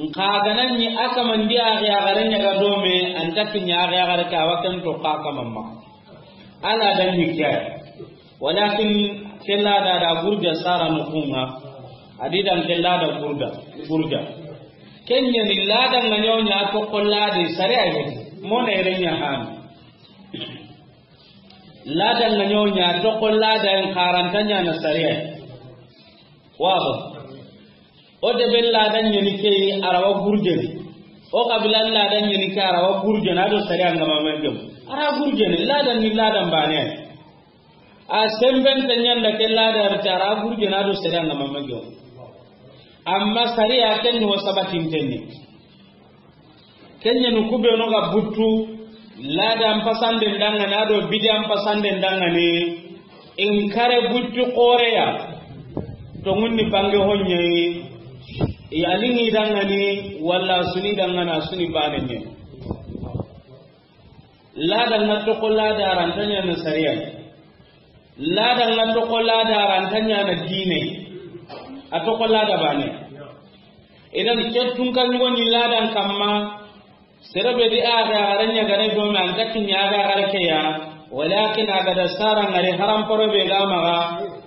Nka gana ni a kamandi a yaxare ɲa ga do me, anta kiɲe a yaxare ka wa ken to ka kamamma. Ala dan ni kya. Walakin ke lada da gurja Sara no kunga. Adi dan ke lada gurda, gurja. Kenya ni lada nga ɲaw ɲa to ko lada sare a yi. Mona ire ɲa han. Lada nga ɲaw ɲa to ko lada en karanta ɲa na sare a yi. Wado. O de be lada ɲeni ke yi, a ra wa gurjeni. O kabila lada ɲeni ke, a ra wa gurjeni, a do sariya nga ma men gem. A ra gurjeni, lada ni lada mbane. A semben ta ɲanda ke lada ri ta, a ra gurjeni, a do sariya nga ma men gem. Amma sariya ken ni wa sabatin tenni. Kenya nu kubenu ga buttu, ladan pasanden dangane, a do bidiyan pasanden dangane, in kare buttu koreya, to ngunni bange honye, ya lingi dangane, wala suni dangana suni banenye. Ladan na toko lada rantanya na sariya. Lada nga toko lada rantanya na dine. A toko lada bane. Idan ke tun kan yugo ni ladan kamma, sere be di a ga garen ɲa gare do me an ga kiɲa a ga gare ke ya, walakin a ga da sara ngari haram poro be ga maga,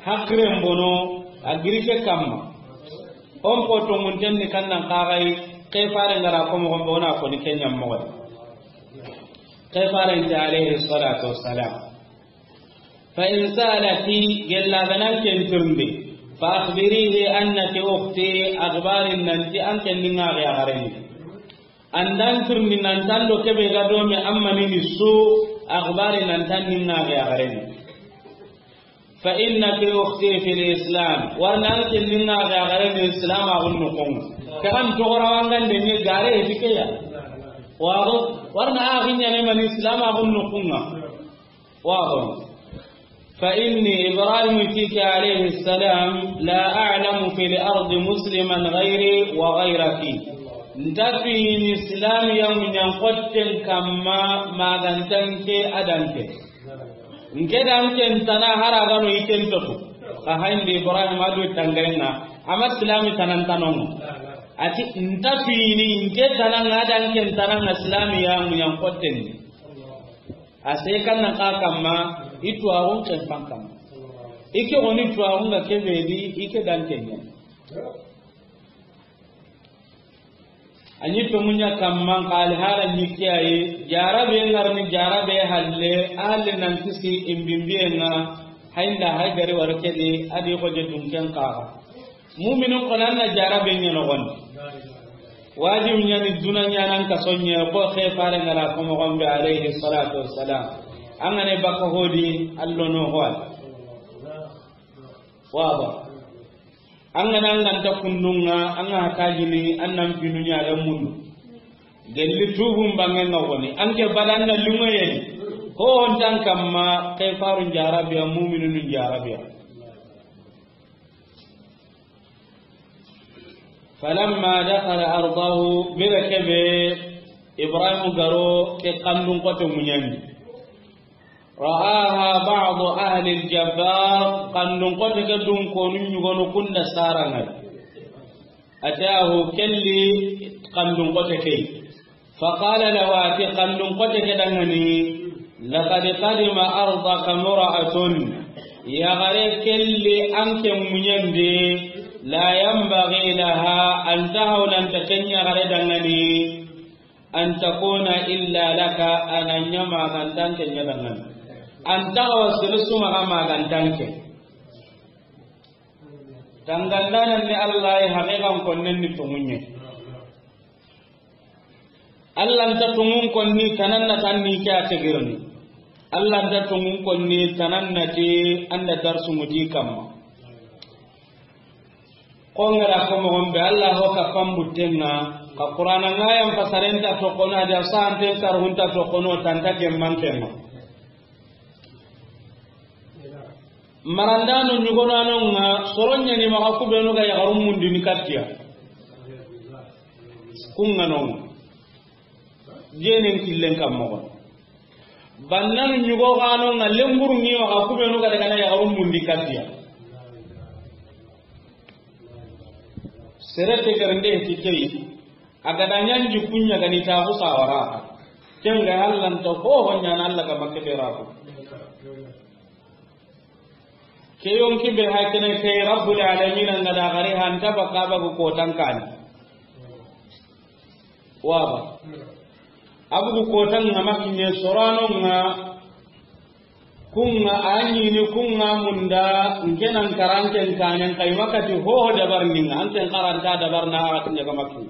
hakren bono, a girike kamma. On ko to mun tenni kan nan kagai, ke fare ngara ko mo gombe ona ko ni kenya mo. Ke fare nta alayhi salatu wassalam. Fa in sa'alaki, gella ganan ken tirndi, fa akhbirihi annaki ukhti, akhbarin nanti an ken ni ŋa ya gareni. Andan tirndi nan tando kebe ga do me amma ni su, akhbarin nan tan ni ŋa ya gareni. Fa innaki ukhti fil islam, warna an ken ni ŋa ya gareni islam a gunnu kun. Kan to gora wangan de ni gare fikeya. Waro, warna a ginya ne man islam a gunnu kunga. Wado. Fa inni Ibrahim tike alayhi salam, la a'lamu fil ardi musliman ghayri wa ghayraki. Nta fini Islam ya munyan kotten kamma magantanke adanke. Nke danke ntana hara gano iken totu. Ka hayndi Ibrahim adu tangarenga, ama Islam tanan tanon. Ati nta fini nke tanan adanke tanan Islam ya munyan kotten. A se kan nan ka kamma, i tuwaxun ken fan kamma. I ke goni tuwaxun ga kebe di, i ke dan kenya. A ɲi to munya kamma, ka alhala ɲi ke ayi, jarabe ngarni jarabe halle, halle nan kisi imbimbiye nga, haynda hay gari war kedi, adi ko je dunken kaga. Mu'minun ko nan na jarabe ɲa noxon. Wajibi ɲa ni duna ɲa nan ka sonye ko ke fare ngara ko mo gombe alayhi salatu wassalam. An ga ne baka hodi allo no hol. Waba. An ga nan ganta kundunga, an ga tajini, an nan finu ɲa ga mundu. Gelli tubun bangen ga woni. An ke badan na lungoye. Ko on tan kamma ke farun jarabiya, mu'minun jarabiya. Falamma dakhala ardahu, bire kebe Ibrahim garo ke kandun kote munyani. Ra'aha ba'du ahli al-jabbar, xandun xote ke dunkonu ɲugonu kunda saraŋa. Atahu, kelli xandun xote ke. Faqala lahu, ati xandun xote ke danŋa ni, laqad qadima ardaka imra'atun. Yaxare kelli an ke muɲen di, la yanbaghi laha, an ta hawla nta ken yaxare danŋa ni, an takuna illa laka, a na ɲa ma ga nta an ke ɲa danŋa ni. An ta hawa sere su ma ga ma ga nta an ke. Tangandanan ni Allah ya haqiqan konnen ni tonŋun ɲa. Allah nta tonŋun konni tananna tan ni ke a tegirni. Allah nta tonŋun konni tananna ti an da darsu ŋuti kamma. Ko ŋa ra ko moxon be Allah ho ka pambutenŋa, ka Qur'ana ŋa yan fasarenta toxono, a da santen karhunta toxono, tanta gemmantenŋa. Marandanu ɲugonanonŋa, soro ɲa ni maxa kubenu ga yaxarun mundini kattiya. Kunŋa nonŋa. Jenen killen kam moxo. Bannanu ɲugo xanonŋa, lemburu ŋi maxa kubenu ga daga na yaxarun mundi kattiya. Sere tegerinde ti kei. A ga da ɲa n jikku ɲa ga ni taxu sawara. Ken ga Allah nta ho ho ɲa na Allah ga makke be rabu. Ke yonki be hakene ke Rabbul Alamin an ga da gari hanta baka bagu kotan kani. Waba. Abugu kotan ŋa makinye soranonŋa. Kunŋa a ɲini kunŋa munda, nke nan karanken kanen kay makati hoho dabar ninŋa, anken karanta dabar na a tinya ga makki.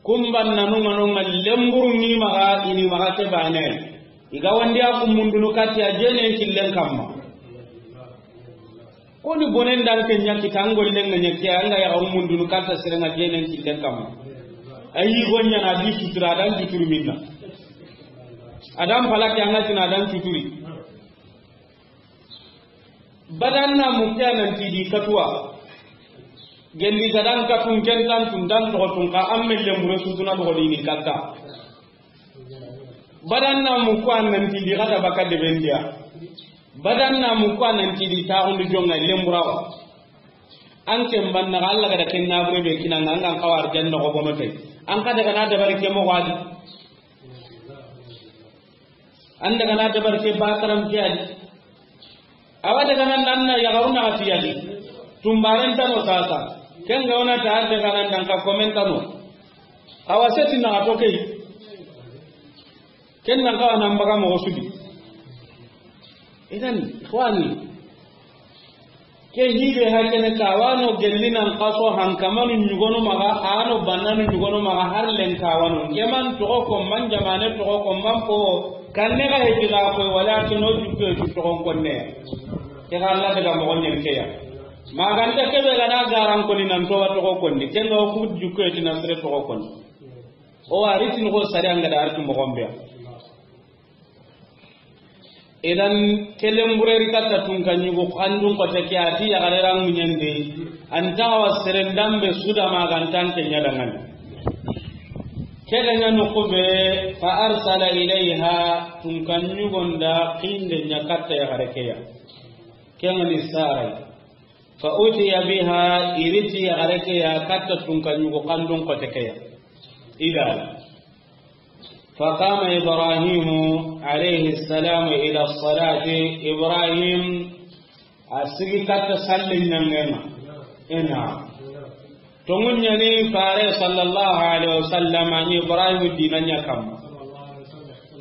Kumban nanu ŋa nonŋa lemburu ni maxa, ini maxa ke bane. Iga wandi a kummundunu katti a jenen killen kamma. Koni bonen dan ke ɲa kita an gollen ŋa ɲa ke, an ga yaxarun mundunu katta sere ŋa jenen killen kamma. Ayi go ɲa na di sutura dan suturi minna. Adan palaki an ga tina dan suturi. Badan na mukke a nan ti di katuwa. Gelli gadan katun ken tan tun dan toxo tun ka an melle mure sutuna doxo di ni katta. Badan na mukke a nan ti di kata baka de bendiya. Badan na mukke a nan ti di taxundu jonŋa lemburawa. An ken banna Allah ga da ken nabure be kinanŋa an ga n xawa arjanna ko bono te. An ka daga na dabari ke moxo a di. An daga na dabar ke bakaram ke a di. Awa daga nan nan na yaxarun na ati a di. Tumbaren tano sasa. Ken ga wona ta daga nan dan ka komen tano. Awa seti na to kei. Ken nan ka nan baga moxo su di. Idan, ikhwani, ke hibe hakene ka wano gelli nan kaso hankamanu ɲugonu maxa, ano bannanu ɲugonu maxa, har len ka wano. Ke man toxo ko man jamane toxo ko man po, kanne ga heti ga ko wala kino jukko tu toxo konne. Ke ga Allah daga moxo ɲen ke ya. Maganta kebe ga na garan koni nan to wa toxo konni. Ken ga ku jukko tu na sere toxo konni. O wari tin ko sare an ga da artu moxo mbe. Idan, kelen bureri katta tunka ɲugo xandun xote ke a ti yaxare ra ŋuɲende, an ta wa seren dambe suda ma ga nta an ke ɲa danŋa ni. Ke ga ɲa noxu be, fa arsala ilayha, tunka ɲugon da xinde ɲa katta yaxare ke ya. Ke ŋa ni Sarai. Fa utiya biha, i ri ti yaxare ke ya katta tunka ɲugo xandun xote ke ya. Idan. Fa qama Ibrahimu alayhi salamu ila salati. Ibrahim a sigi katta sallen ɲanŋen ŋa. Ina. Tonŋun ɲa ni Fare sallallahu alayhi wasallam, a ni Ibrahim dina ɲa kamma.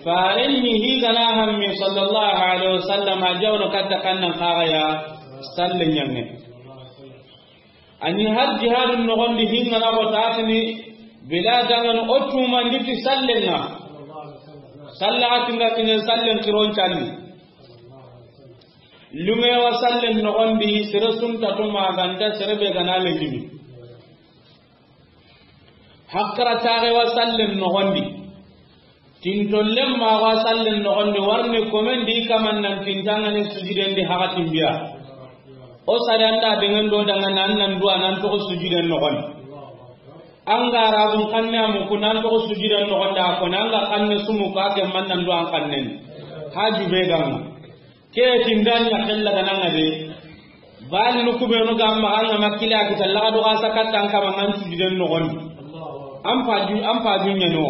Fare ni hi ga na hammi sallallahu alayhi wasallam, a jawno katta kannan xaga ya sallen ɲanŋe. A ni har jihadun noxon di hinŋa na ko tatini, bila dangan o tumandi ti sallen ŋa. Salla a ti nga kinen sallen kiron calli. Lunge wa sallen noxon di, sere sunta to ma ga nta sere be ga na le jimi. Hakkara taxe wa sallen noxon di. Tintollen ma wa sallen noxon di, warni komen di kaman nan tintanŋa ni sujuden di haxatin biya. O sare an da dengan do danŋa nan nan duwa nan toxo sujuden noxon di. An ga rabun xanne a muku nan toxo sujuden noxon di, a ko nan ga xanne sumu ka ke man nan duwa an xannen. Haju be ga ŋa. Ke tindan ya kella ga na ŋa de. Bal nu ku be no ga ma ga ŋa ma kila kita laga do ga sa katta an kama ŋa an sujuden no gon. An paju, an paju ɲa no.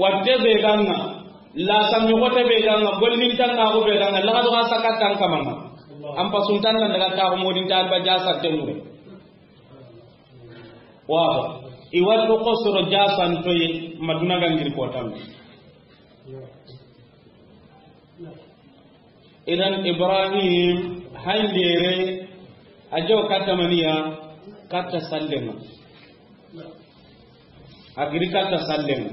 Watte be ga ŋa. La sami xote be ga ŋa, gollintan ŋa ko be ga ŋa, laga do ga sa katta an kama ŋa. An pasuntan nan daga ta ko modin ta ba jasa temure. Wa i wa to ko soro jasan to yi maduna gangir ko tan. Idan Ibrahim handere a jo katta maniya, katta sallenga. A giri katta sallenga.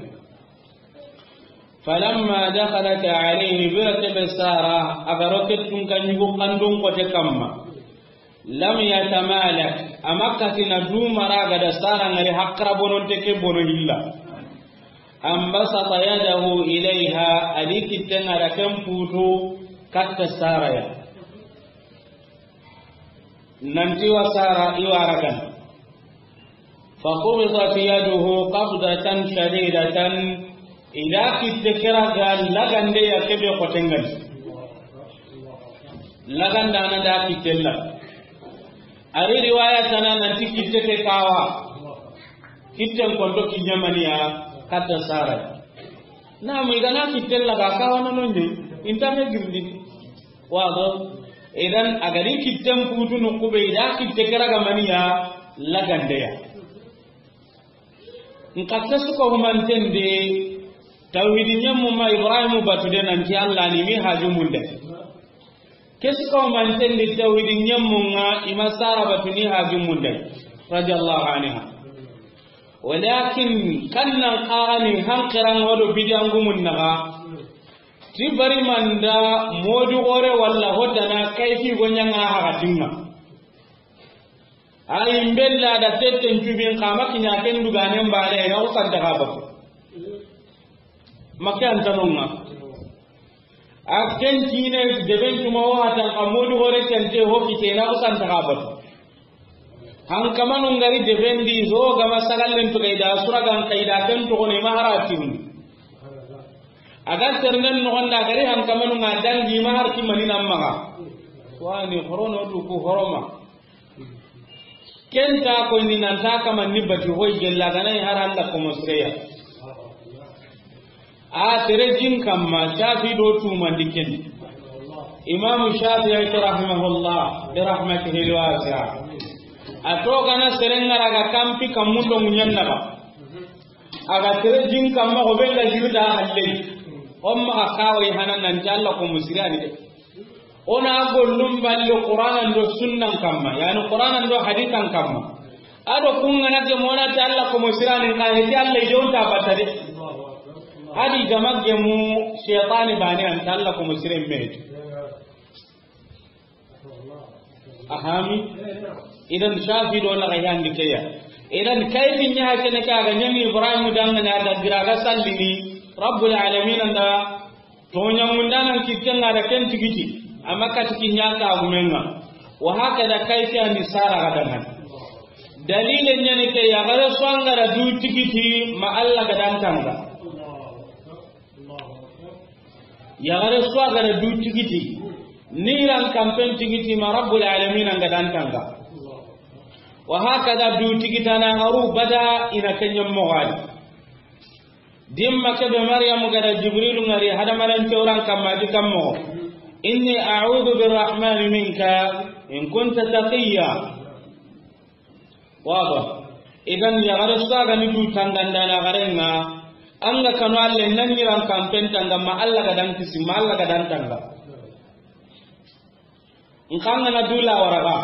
Falamma dakhalat alayhi, bira kebe Sara a ga ro ke tunka ɲugo kandon kote kamma. Lam yatamalak, a ma katina du mara ga da Sara ŋari hakra bononte ke bono hilla. An basata yadahu ilayha, a di kittenga da ken putu katta Sara ya. Nanti wa Sara i wa ragan. Faqubidat yaduhu qabdatan shadidatan. I da kitte ke raga lagande ya kebe xotengan. Laganda na da kitte la. Ari riwaya tana nanti kitte ke kawa. Kitten konto kiɲamaniya katta Sara. Na mu i ga na kitten laga kawa no nonde. Inta me girdi. Wado. Idan a ga di kitten putu no kube i da kitte ke raga maniya lagandeya. Nka ke su ko humanten de tawhidi ɲammu ma Ibrahimu batu de nanti Allah ni mi haju munde. Ke su ko humanten de tawhidi ɲammu ŋa i ma Sara batu ni haju munde. Radiyallahu anha. Walakin kannan qarani hanqiran wado bidangumun naga. Ti bari manda modu gore walla hodana kayfi gonya ŋa hakatinga. Ayi mbella da tetten cubin kama kiɲa ken duganen bane na usanta ga batu. Makke antanonga. A ken tine deben tuma o hatan ka modu gore tente ho kitena usanta ga batu. Hankamanu ngari deben di zo gama sagallen to kayda suragan kayda ken to ne maharatin. A ga ternen no gonda gari hankamanu nga dangi mahar kimani namma. Wani horono du ku horoma. Kenta ko ni nan ta kaman ni bati hoy gella ganai har Allah ko mosreya. A tere jin kamma Shafi do tumandi ken. Imam Shafi ay rahimahullah bi rahmatihi alwasi'a. A to gana serengara ga kampi kamundo munyanna ba. A ga tere jin kamma ko be ga jirda halle. Umma ka kawai hanan nan jalla ko musriyani de. Ona gollum balle Qur'anan do sunnan kamma, yani Qur'anan do hadisan kamma. Ado kungana ke mona ta Allah ko mosirani ka heti Allah jonta batade. Adi gamagge mu shaytani bani an ta Allah ko mosiren me. Ahami. Idan Shafi do na ga yandi keya. Idan kayfin ya hakene ka ga nyami Ibrahim dangana da gira ga sallini Rabbul alamin anda. Toɲamundanan kittenga da ken tigiti, amma kati kiɲa kagumenga. Wa hakada kayfi andi Sara ga dangan. Dalile ɲani ke, yaxare su angara du tigiti ma Allah ga dantanga. Yaxare su angara du tigiti, niran kampen tigiti ma Rabbul alamin anga dantanga. Wa hakada du tigitana ngaru bada ina kenyam mogadi. Dimma kebe Maryamu gada Jibrilu ngari hadamaren tewran kamma di kammo. Inni a'udhu birrahmani minka in kunta taqiyya. Waba. Idan yaxare su ga ni du tangandana garenga. Anga kanu alle nan yiran kampen tanga ma Allah ga dan kisi ma Allah ga dantanga. Nkangana dula waraga.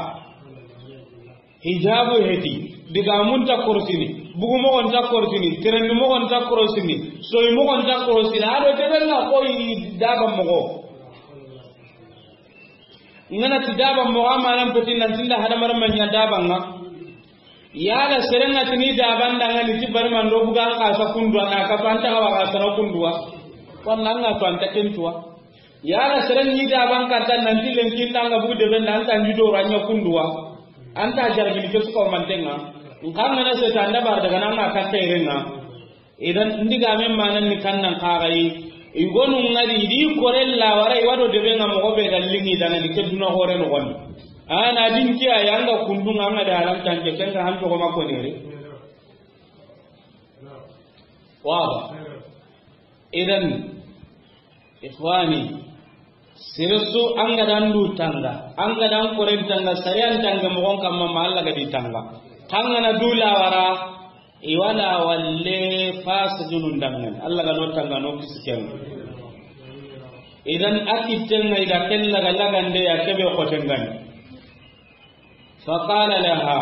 Hijabu heti, diga mun ta korsini, bugu mogon ta korsini, terendi mogon ta korsini, soyi mogon ta korsini, ado tebella koyi daba mogo. Ngana ti daba mogo amanan peti nan tinda hadamar manya daba nga. Yala serenga tini daba ndanga ni ti bari mando buga ka sa kundwa na ka panta ka wa ka sa kundwa. Walla nga to anta kentuwa. Yala seren ni da ban katta nan ti lenki ndanga bu de ben nan tan di do ranya kunduwa. Anta jarbi ke su ko mantenga. Nkan na se tanda bar daga nan ka terenga. Idan ndiga men manan ni kannan kagai. I gonu ŋa di, i di kore lawara, i wa do debe ŋa moxo be ga liŋi dangani ke duna xoore noxon di. A na din ke a ya ŋa kundu ŋa ŋa da haram tanke, ken ga han toxo ma konere. Wa. Idan, ikhwani, sere su an ga da an du tanga, an ga da an koren tanga, sariyan tanga moxon kamma ma Alla ga di tanga. Tanga na du lawara, i wa lawalle fasidunun dangani. Alla ga no tanga no kisi ken. Idan a kitten ŋa i da ken laga lagande ya kebe xoten ŋa ni. Fa qala laha,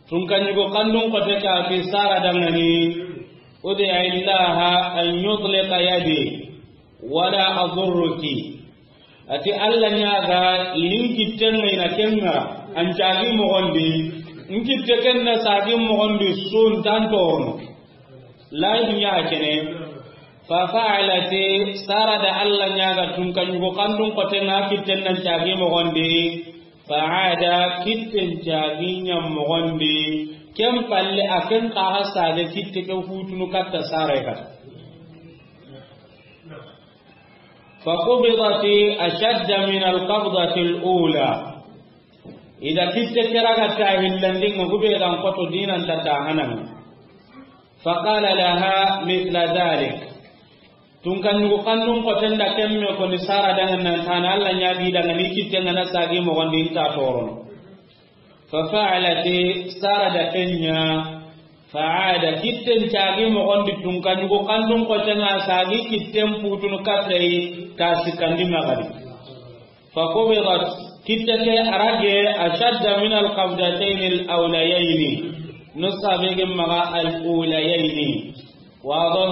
tunka ɲugo kandun xote ke a ti Sara dangani, ud'i Allaha an yutliqa yadi wala adurruki. A ti Alla ɲaaga, i ni n kitten ŋa i na ken ŋa, an caagi moxon di, n kitte ken na saagi moxon di su, n ta n torono. Layi dunya a kene. Fa fa'alat, Sara da Alla ɲaaga tunka ɲugo kandun xoten ŋa kitten nan caagi moxon di. Fa aada, kitten caagi ɲa moxon di. Ken palle a ken xa ga saage kitte ke futunu katta Sara ya katta. Fa qubidat ashadda min alqabdati alula. I da kitte ke raga ta hillandi ŋa, hube ga n xoto dinan ta ta hanan. Fa qala laha mithla dhalik. Tunka ɲugo kandun xoten da ken me koni Sara dangani, nan tana Alla ɲaagi dangani, kitten ŋa na saagi moxon di, n ta torono. Fa fa'alat, Sara da ken ɲa. Fa aada, kitten caagi moxon di tunka ɲugo kandun xoten ŋa saagi kitten futunu katta i ta sikkandi ŋa ga di. Fa qubidat, kitte ke a rage ashadda min alqabdatayni alawlayayni. Nusa be ge maxa alawlayayni. Wado,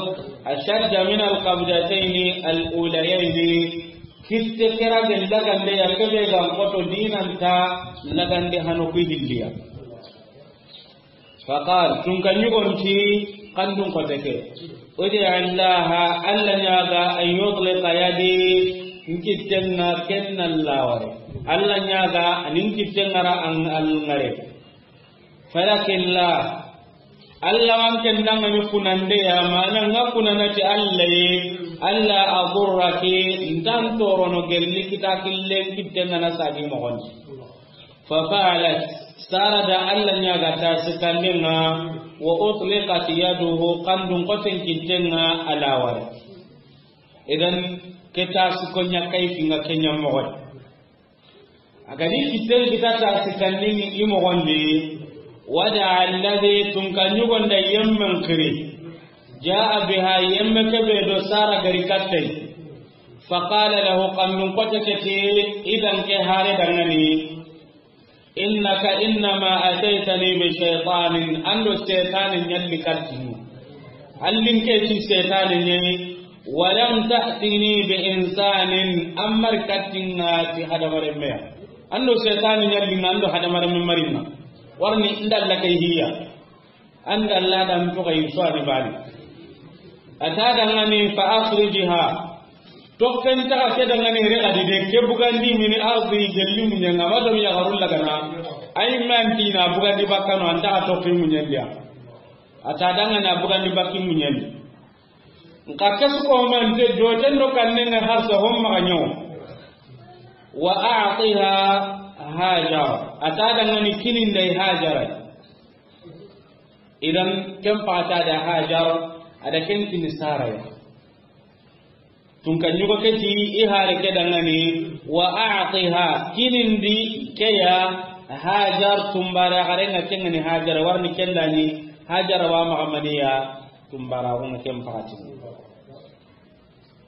ashadda min alqabdatayni alawlayayni. Kitte ke rage lagande ya kebe ga n xoto dinan ta lagande hano ku hilliya. Fa qala, tunka ɲugon ti kandun xote ke, ud'i Allaha, Alla ɲaaga, an yutliqa yadi, n kitten ŋa ken na laware. Alla ɲaaga, a ni n kitten ŋa ra an alŋare. Falaki llah, Alla wa n ken dangani kunande ya, mana ŋa kunana ti Alla ye, alla adurraki, n ta n torono gelli kita killen kitten ŋa na saagi moxon di. Fa fa'alat, Sara da Alla ɲaaga ta sikkanden ŋa, wa utliqat yaduhu, kandun xoten kitten ŋa a laware. Idan, ke ta sikko ɲa kayfi ŋa ke ɲa moxo di. A ga di kitten kita ta sikkandin ŋa i moxon di, wa da'a alladhi, tunka ɲugon da yemmen xiri, ja'a biha, yemme kebe do Sara ga ri katta i. Fa qala lahu, kandun xote ke ti, idan ke hare dangani, innaka innama ataytani bi shaytanin, an do setane ɲa li katta i. An linke ti setane ɲa yi, wa lam ta'tini bi insanin, an ma ri katta i ŋa ti hadamarenme ya. An do setane ɲa li ŋa, an do hadamarenme ma ri ŋa. Warni n da la kay hiya. An da la dan to kay so ani bani. A ta dangani fa akhrijha. Tokken ta ke dangani re ga di de, ke bugandi mini ardi, gelli muɲen ŋa, ma do mi ya garul lagana. Ay man ti na bugandi bakkano, an ta tokken muɲen di ya. A ta dangani a bugandi bakki muɲen di. Nka ke su ko man te joten do kannen ŋa har sa hon ma ɲo. Wa a'tiha Hajar. A ta dangani kinin da i Hajara. Idan ken paxata da Hajar, a da ken kini Sara ya. Tunka ɲugo ke ti i hare ke dangani, wa a'tiha, kinin di ke ya Hajar, tunbara xare ŋa ken ŋa ni Hajar, warni ken da ni Hajar wa maxa maniya, tunbara xo ŋa ken paxati.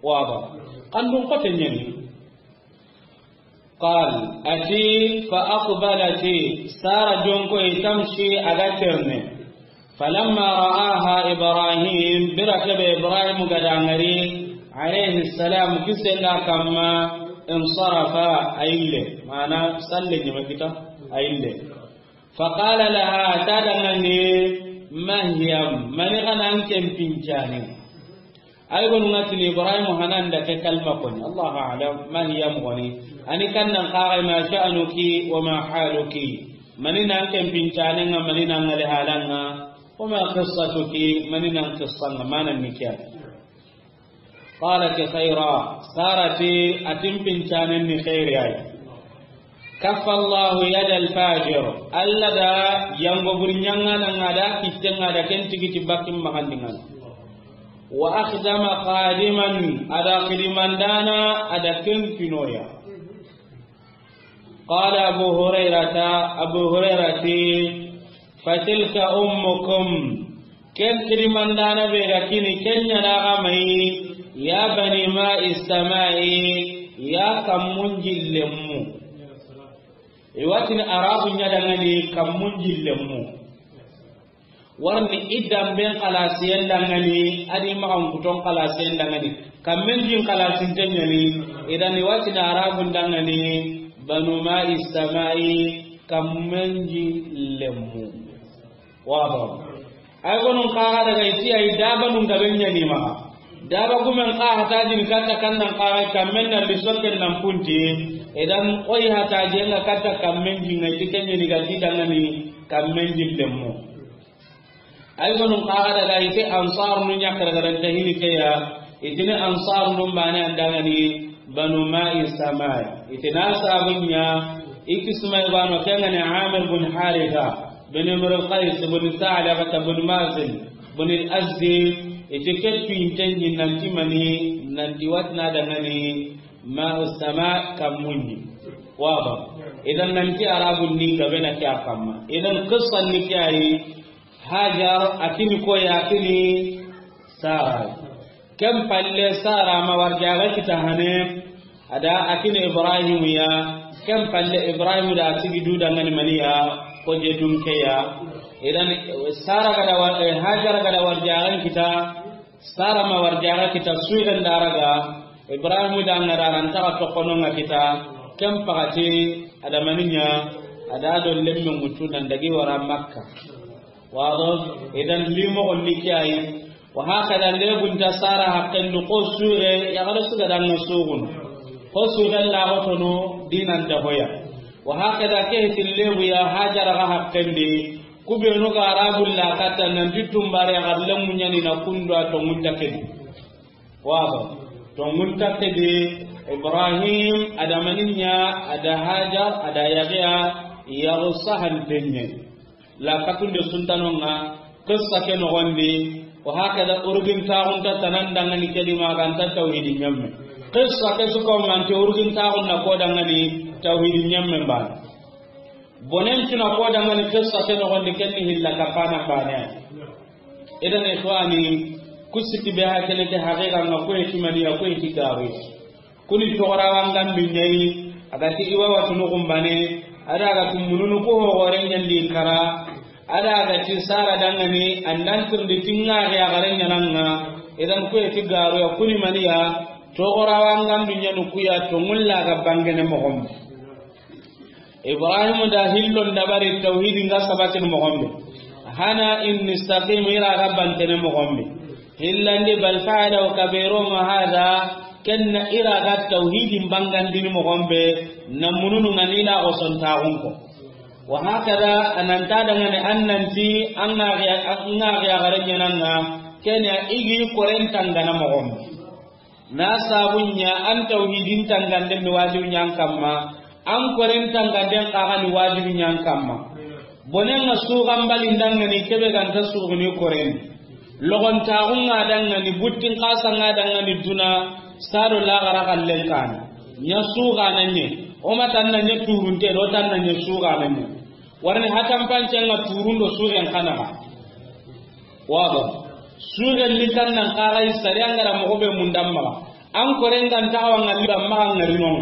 Waba. Kandun xote ɲa ni. Qal, a ti, fa aqbalat, Sara jonko i tamshi, a ga terni. Falamma ra'aha Ibrahim, bire ke be Ibrahim ga da ŋari, alayhi salam, kisen da a kanma, insarafa, a yille. Mana, salle ɲeme kita, a yille. Fa qala laha, a ta dangani, ma hiya, mani xa na an ken pincani. Ay gonu ŋa tini Ibrahim hanan da ke kalma koni. Allahu a'lam, ma hiya moxoni. Ani kannan xaxa, ma sha'nuki wa ma haluki. Mani na an ken pincane ŋa, mani na an ŋa le halan ŋa. Wa ma qissatuki, mani na an qissan ŋa, mana ni kiya. قالت خيرا. Sara ti a ti n pincanen ni xeeri ya yi. كف الله يد الفاجر. Alla da yango buri ɲaŋana ŋa da kitten ŋa da ken tigi ti bakin maxandinŋan. وأخدم خادما. A da xidimandana a da ken kinoya. قال أبو هريرة، Abu Huraira ti, فتلك أمكم. Ken xidimandana be ga kini ken ɲa na ga mayi, يا بني ماء السماء, ya kammun jillenmu. I wa tini Arabu ɲa dangani kammun jillenmu. Warni i damben xalasiyen dangani, a di maxankuton xalasiyen dangani. Kammen jin xalasinten ɲa ni, i da ni wa tini Arabun dangani, بنو ماء السماء, kammen jillenmu. Wado. Ay gonun xaxa daga i ti ay dabanun gaben ɲa ni maxa. Daba gumen xa hatajini katta kannan xaxa kammen na li sokken nan punti. I da n koy hatajenŋa katta kammen jinŋa i ti ken ɲa ni ga ti dangani kammen jillenmu. Ay gonun xaxa daga i ti Ansarunu ɲa xaragaran ta hini ke ya. I tini Ansarunu bane an dangani بنو ماء السماء. I tini a sabun ɲa, i kismay bano ken ŋa ni Amir bun Haritha, bun Imrul Qais, bun Sa'labata, bun Mazin, bun Al-Azdi, i ti ke tuwinten ɲi nanti mani, nanti wa tini a dangani ماء السماء kammun ɲi. Wado. I da nanti Arabun ni gabe na ke ya kamma. I da n qissan ni ke ya yi, Hajar a kini ko ya kini Sara. Ken palle Sara ma warjaga kita hane. A da a kini Ibrahim ya. Ken palle Ibrahim da a sigi du dangani mani ya. Ko je dun ke ya. I da n Sara ga da war-, eh, Hajar ga da warjaga kita. Sara ma warjaga kita suiren daraga. Ibrahim da ŋa da ran ta tokono ŋa kita. Ken pakati a da mani ɲa. A da do lemme mutu nan dagi wara Makka. Wado. I da n limo gon ni ke ya yi. Wa hakada lebun ta Sara haqqen du ko sure ya ga da su ga da ŋa sugun. Ko su ga la ko tono dinan ta hoya. Wa hakada ke ti lebu ya Hajara ga haqqen di. Ku benu ga Arabun la katta nanti tumbare ya ga lemu ɲa ni na kundu a tonŋun ta ke di. Wado. Tonŋun ta ke di Ibrahim a da mani ɲa, a da Hajar, a da yaqiya, yaxu sahanten ɲa. La katunde suntanonŋa, qissa ke noxon di, wa hakada urgin taxunta tanan dangani ke di ma ga nta tawhidi ɲamme. Qissa ke su ko ŋa nti urgin taxun na ko dangani tawhidi ɲamme bane. Bonen tuna ko dangani qissa ke noxon di ken ni hilla kapana bane. Idan ikhwani, ku siki be ha kene ke haqiqa ŋa ko e ti mani ya ko e ti gawe. Kuni toxora wangan du ɲa yi, a ga ti i wa watunu xumbane, a da ga ti mununu ku hoxore ɲa ndi kara, a da ga ti Sara dangani, an da n tirindi ti ŋa ya gare ɲa na ŋa, idan ku e ti garu ya kuni mani ya, toxora wangan du ɲa nu ku ya tonŋun la ga bangene moxon. Ibrahim da hillon dabari tawhidin ga sabatin moxon be. Hana inni istaqim ira ga bantene moxon be. Hillandi bal fa'alahu kabiruhum hadha, ken na ira ga tawhidin bangandini moxon be, na mununu ŋa ni la xosontaxun ko. Wa hakada, a nan ta dangani an nanti, an ŋa xiya, an ŋa xiya gare ɲa na ŋa, ken ya i gi koren tangana moxon be. Na sabun ɲa an tawhidin tangande mi wajibi ɲa an kamma, an koren tangande n kaga ni wajibi ɲa an kamma. Bonen ŋa sugan bali n dangani kebe ga nta suguni koren. Logon taxun ŋa dangani, buttin xasa ŋa dangani duna, sado laxara xallen kani. Ɲa suganan ɲe, o ma tan na ɲa turunte do tan na ɲa suganan ɲe. Warni hatan pancen ŋa turun do sugen kana. Wado. Sugen ni tan nan kaga i sariya ŋa ra moxo be mundan maxa. An koren ga nta wa ŋalli ba maxa ŋari non.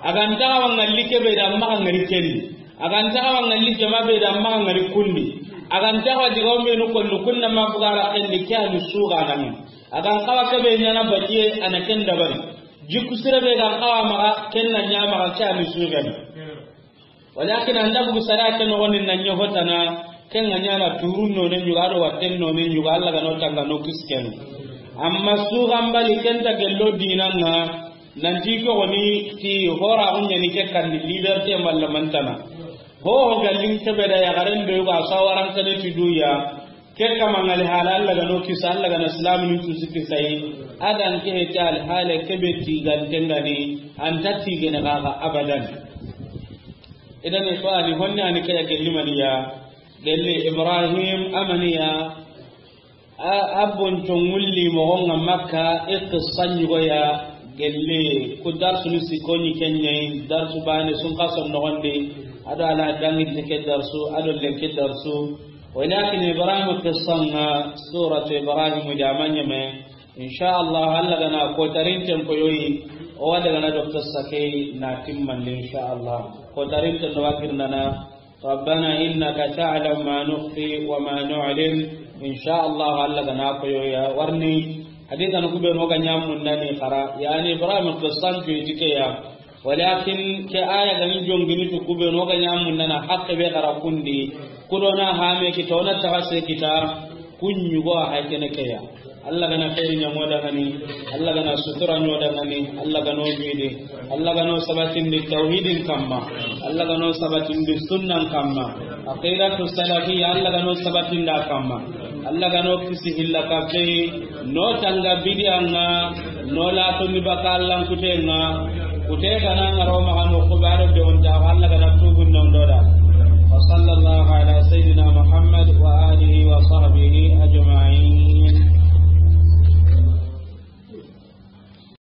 A ga nta wa ŋalli kebe da maxa ŋari kendi. A ga nta wa ŋalli jama be da maxa ŋari kundi. A ga nta wa diga o menu konnu kunna ma bugara kendi ke ani suganan. A ga n kawa kebe ɲana batiye ana ken dabari. Jikku sire be ga n kawa maxa ken na ɲa maxa ke ani sugen. Walakin an da bugu sara ke noxon ni na ɲa hotana, ken ŋa ɲana turun no ne ɲuga do watten no ne ɲuga, Alla ga no tanga no kisken. Amma sugan bali ken ta gello dinan ŋa, nanti ko goni ti hora gun ɲa ni ke kan ni liberté malla mantana. Ho ho gallin kebe da ya garen be ga sawaran kane ti duya. Ke kama ŋa li hala Alla ga no kisa, Alla ga na silaminu cusi kisa yi. A dan ke heti al hala ke be tiganten ga ni, an ta tigene ga ga abadan. Idan ikhwani, honni ani ke ya gelli maniya, gelli Ibrahim amaniya, a, a bonco ŋulli moxo ŋa Makka, i qissa ɲugoya, gelli ku darsunu sikko ɲi ken ɲa yi, darsu bane sun xason noxondi, a do ala danginte ke darsu, a do lenki darsu. Walakin Ibrahim qissa ŋa, suratu Ibrahim da ma ɲeme, insha Allah, Alla ga na kotarinten poyoyi, o wa daga na do qissa ke na timmandi, insha Allah. Kotarinten do wa girndana, ربنا إنك تعلم ما نخفي وما نعلن. Insha Allah, Alla ga na koyoya warni. Hadisa no kube no ga ɲamundani xara. Yani Ibrahim qissan tu itike ya. Walakin ke aya ga ni jongini tu kube no ga ɲamundana haqqe be xara kundi. Kudona hame kita, ona taga se kita. Kuɲugo a hay kene ke ya. Alla ga na xeeri ɲa ŋo dangani, Alla ga na sutura ɲo dangani, Alla ga no jidi, Alla ga no sabatindi tawhidin kamma, Alla ga no sabatindi sunnan kamma, aqidatu salafiyya, Alla ga no sabatinda kamma, Alla ga no kisi hilla kafe, no tanga bidiya ŋa, no la to ni baka Alla kute ŋa, kute ga na ŋaro maxa no xubaro de on da Alla ga na tubu non do da. وصلى الله على سيدنا محمد وآله وصحبه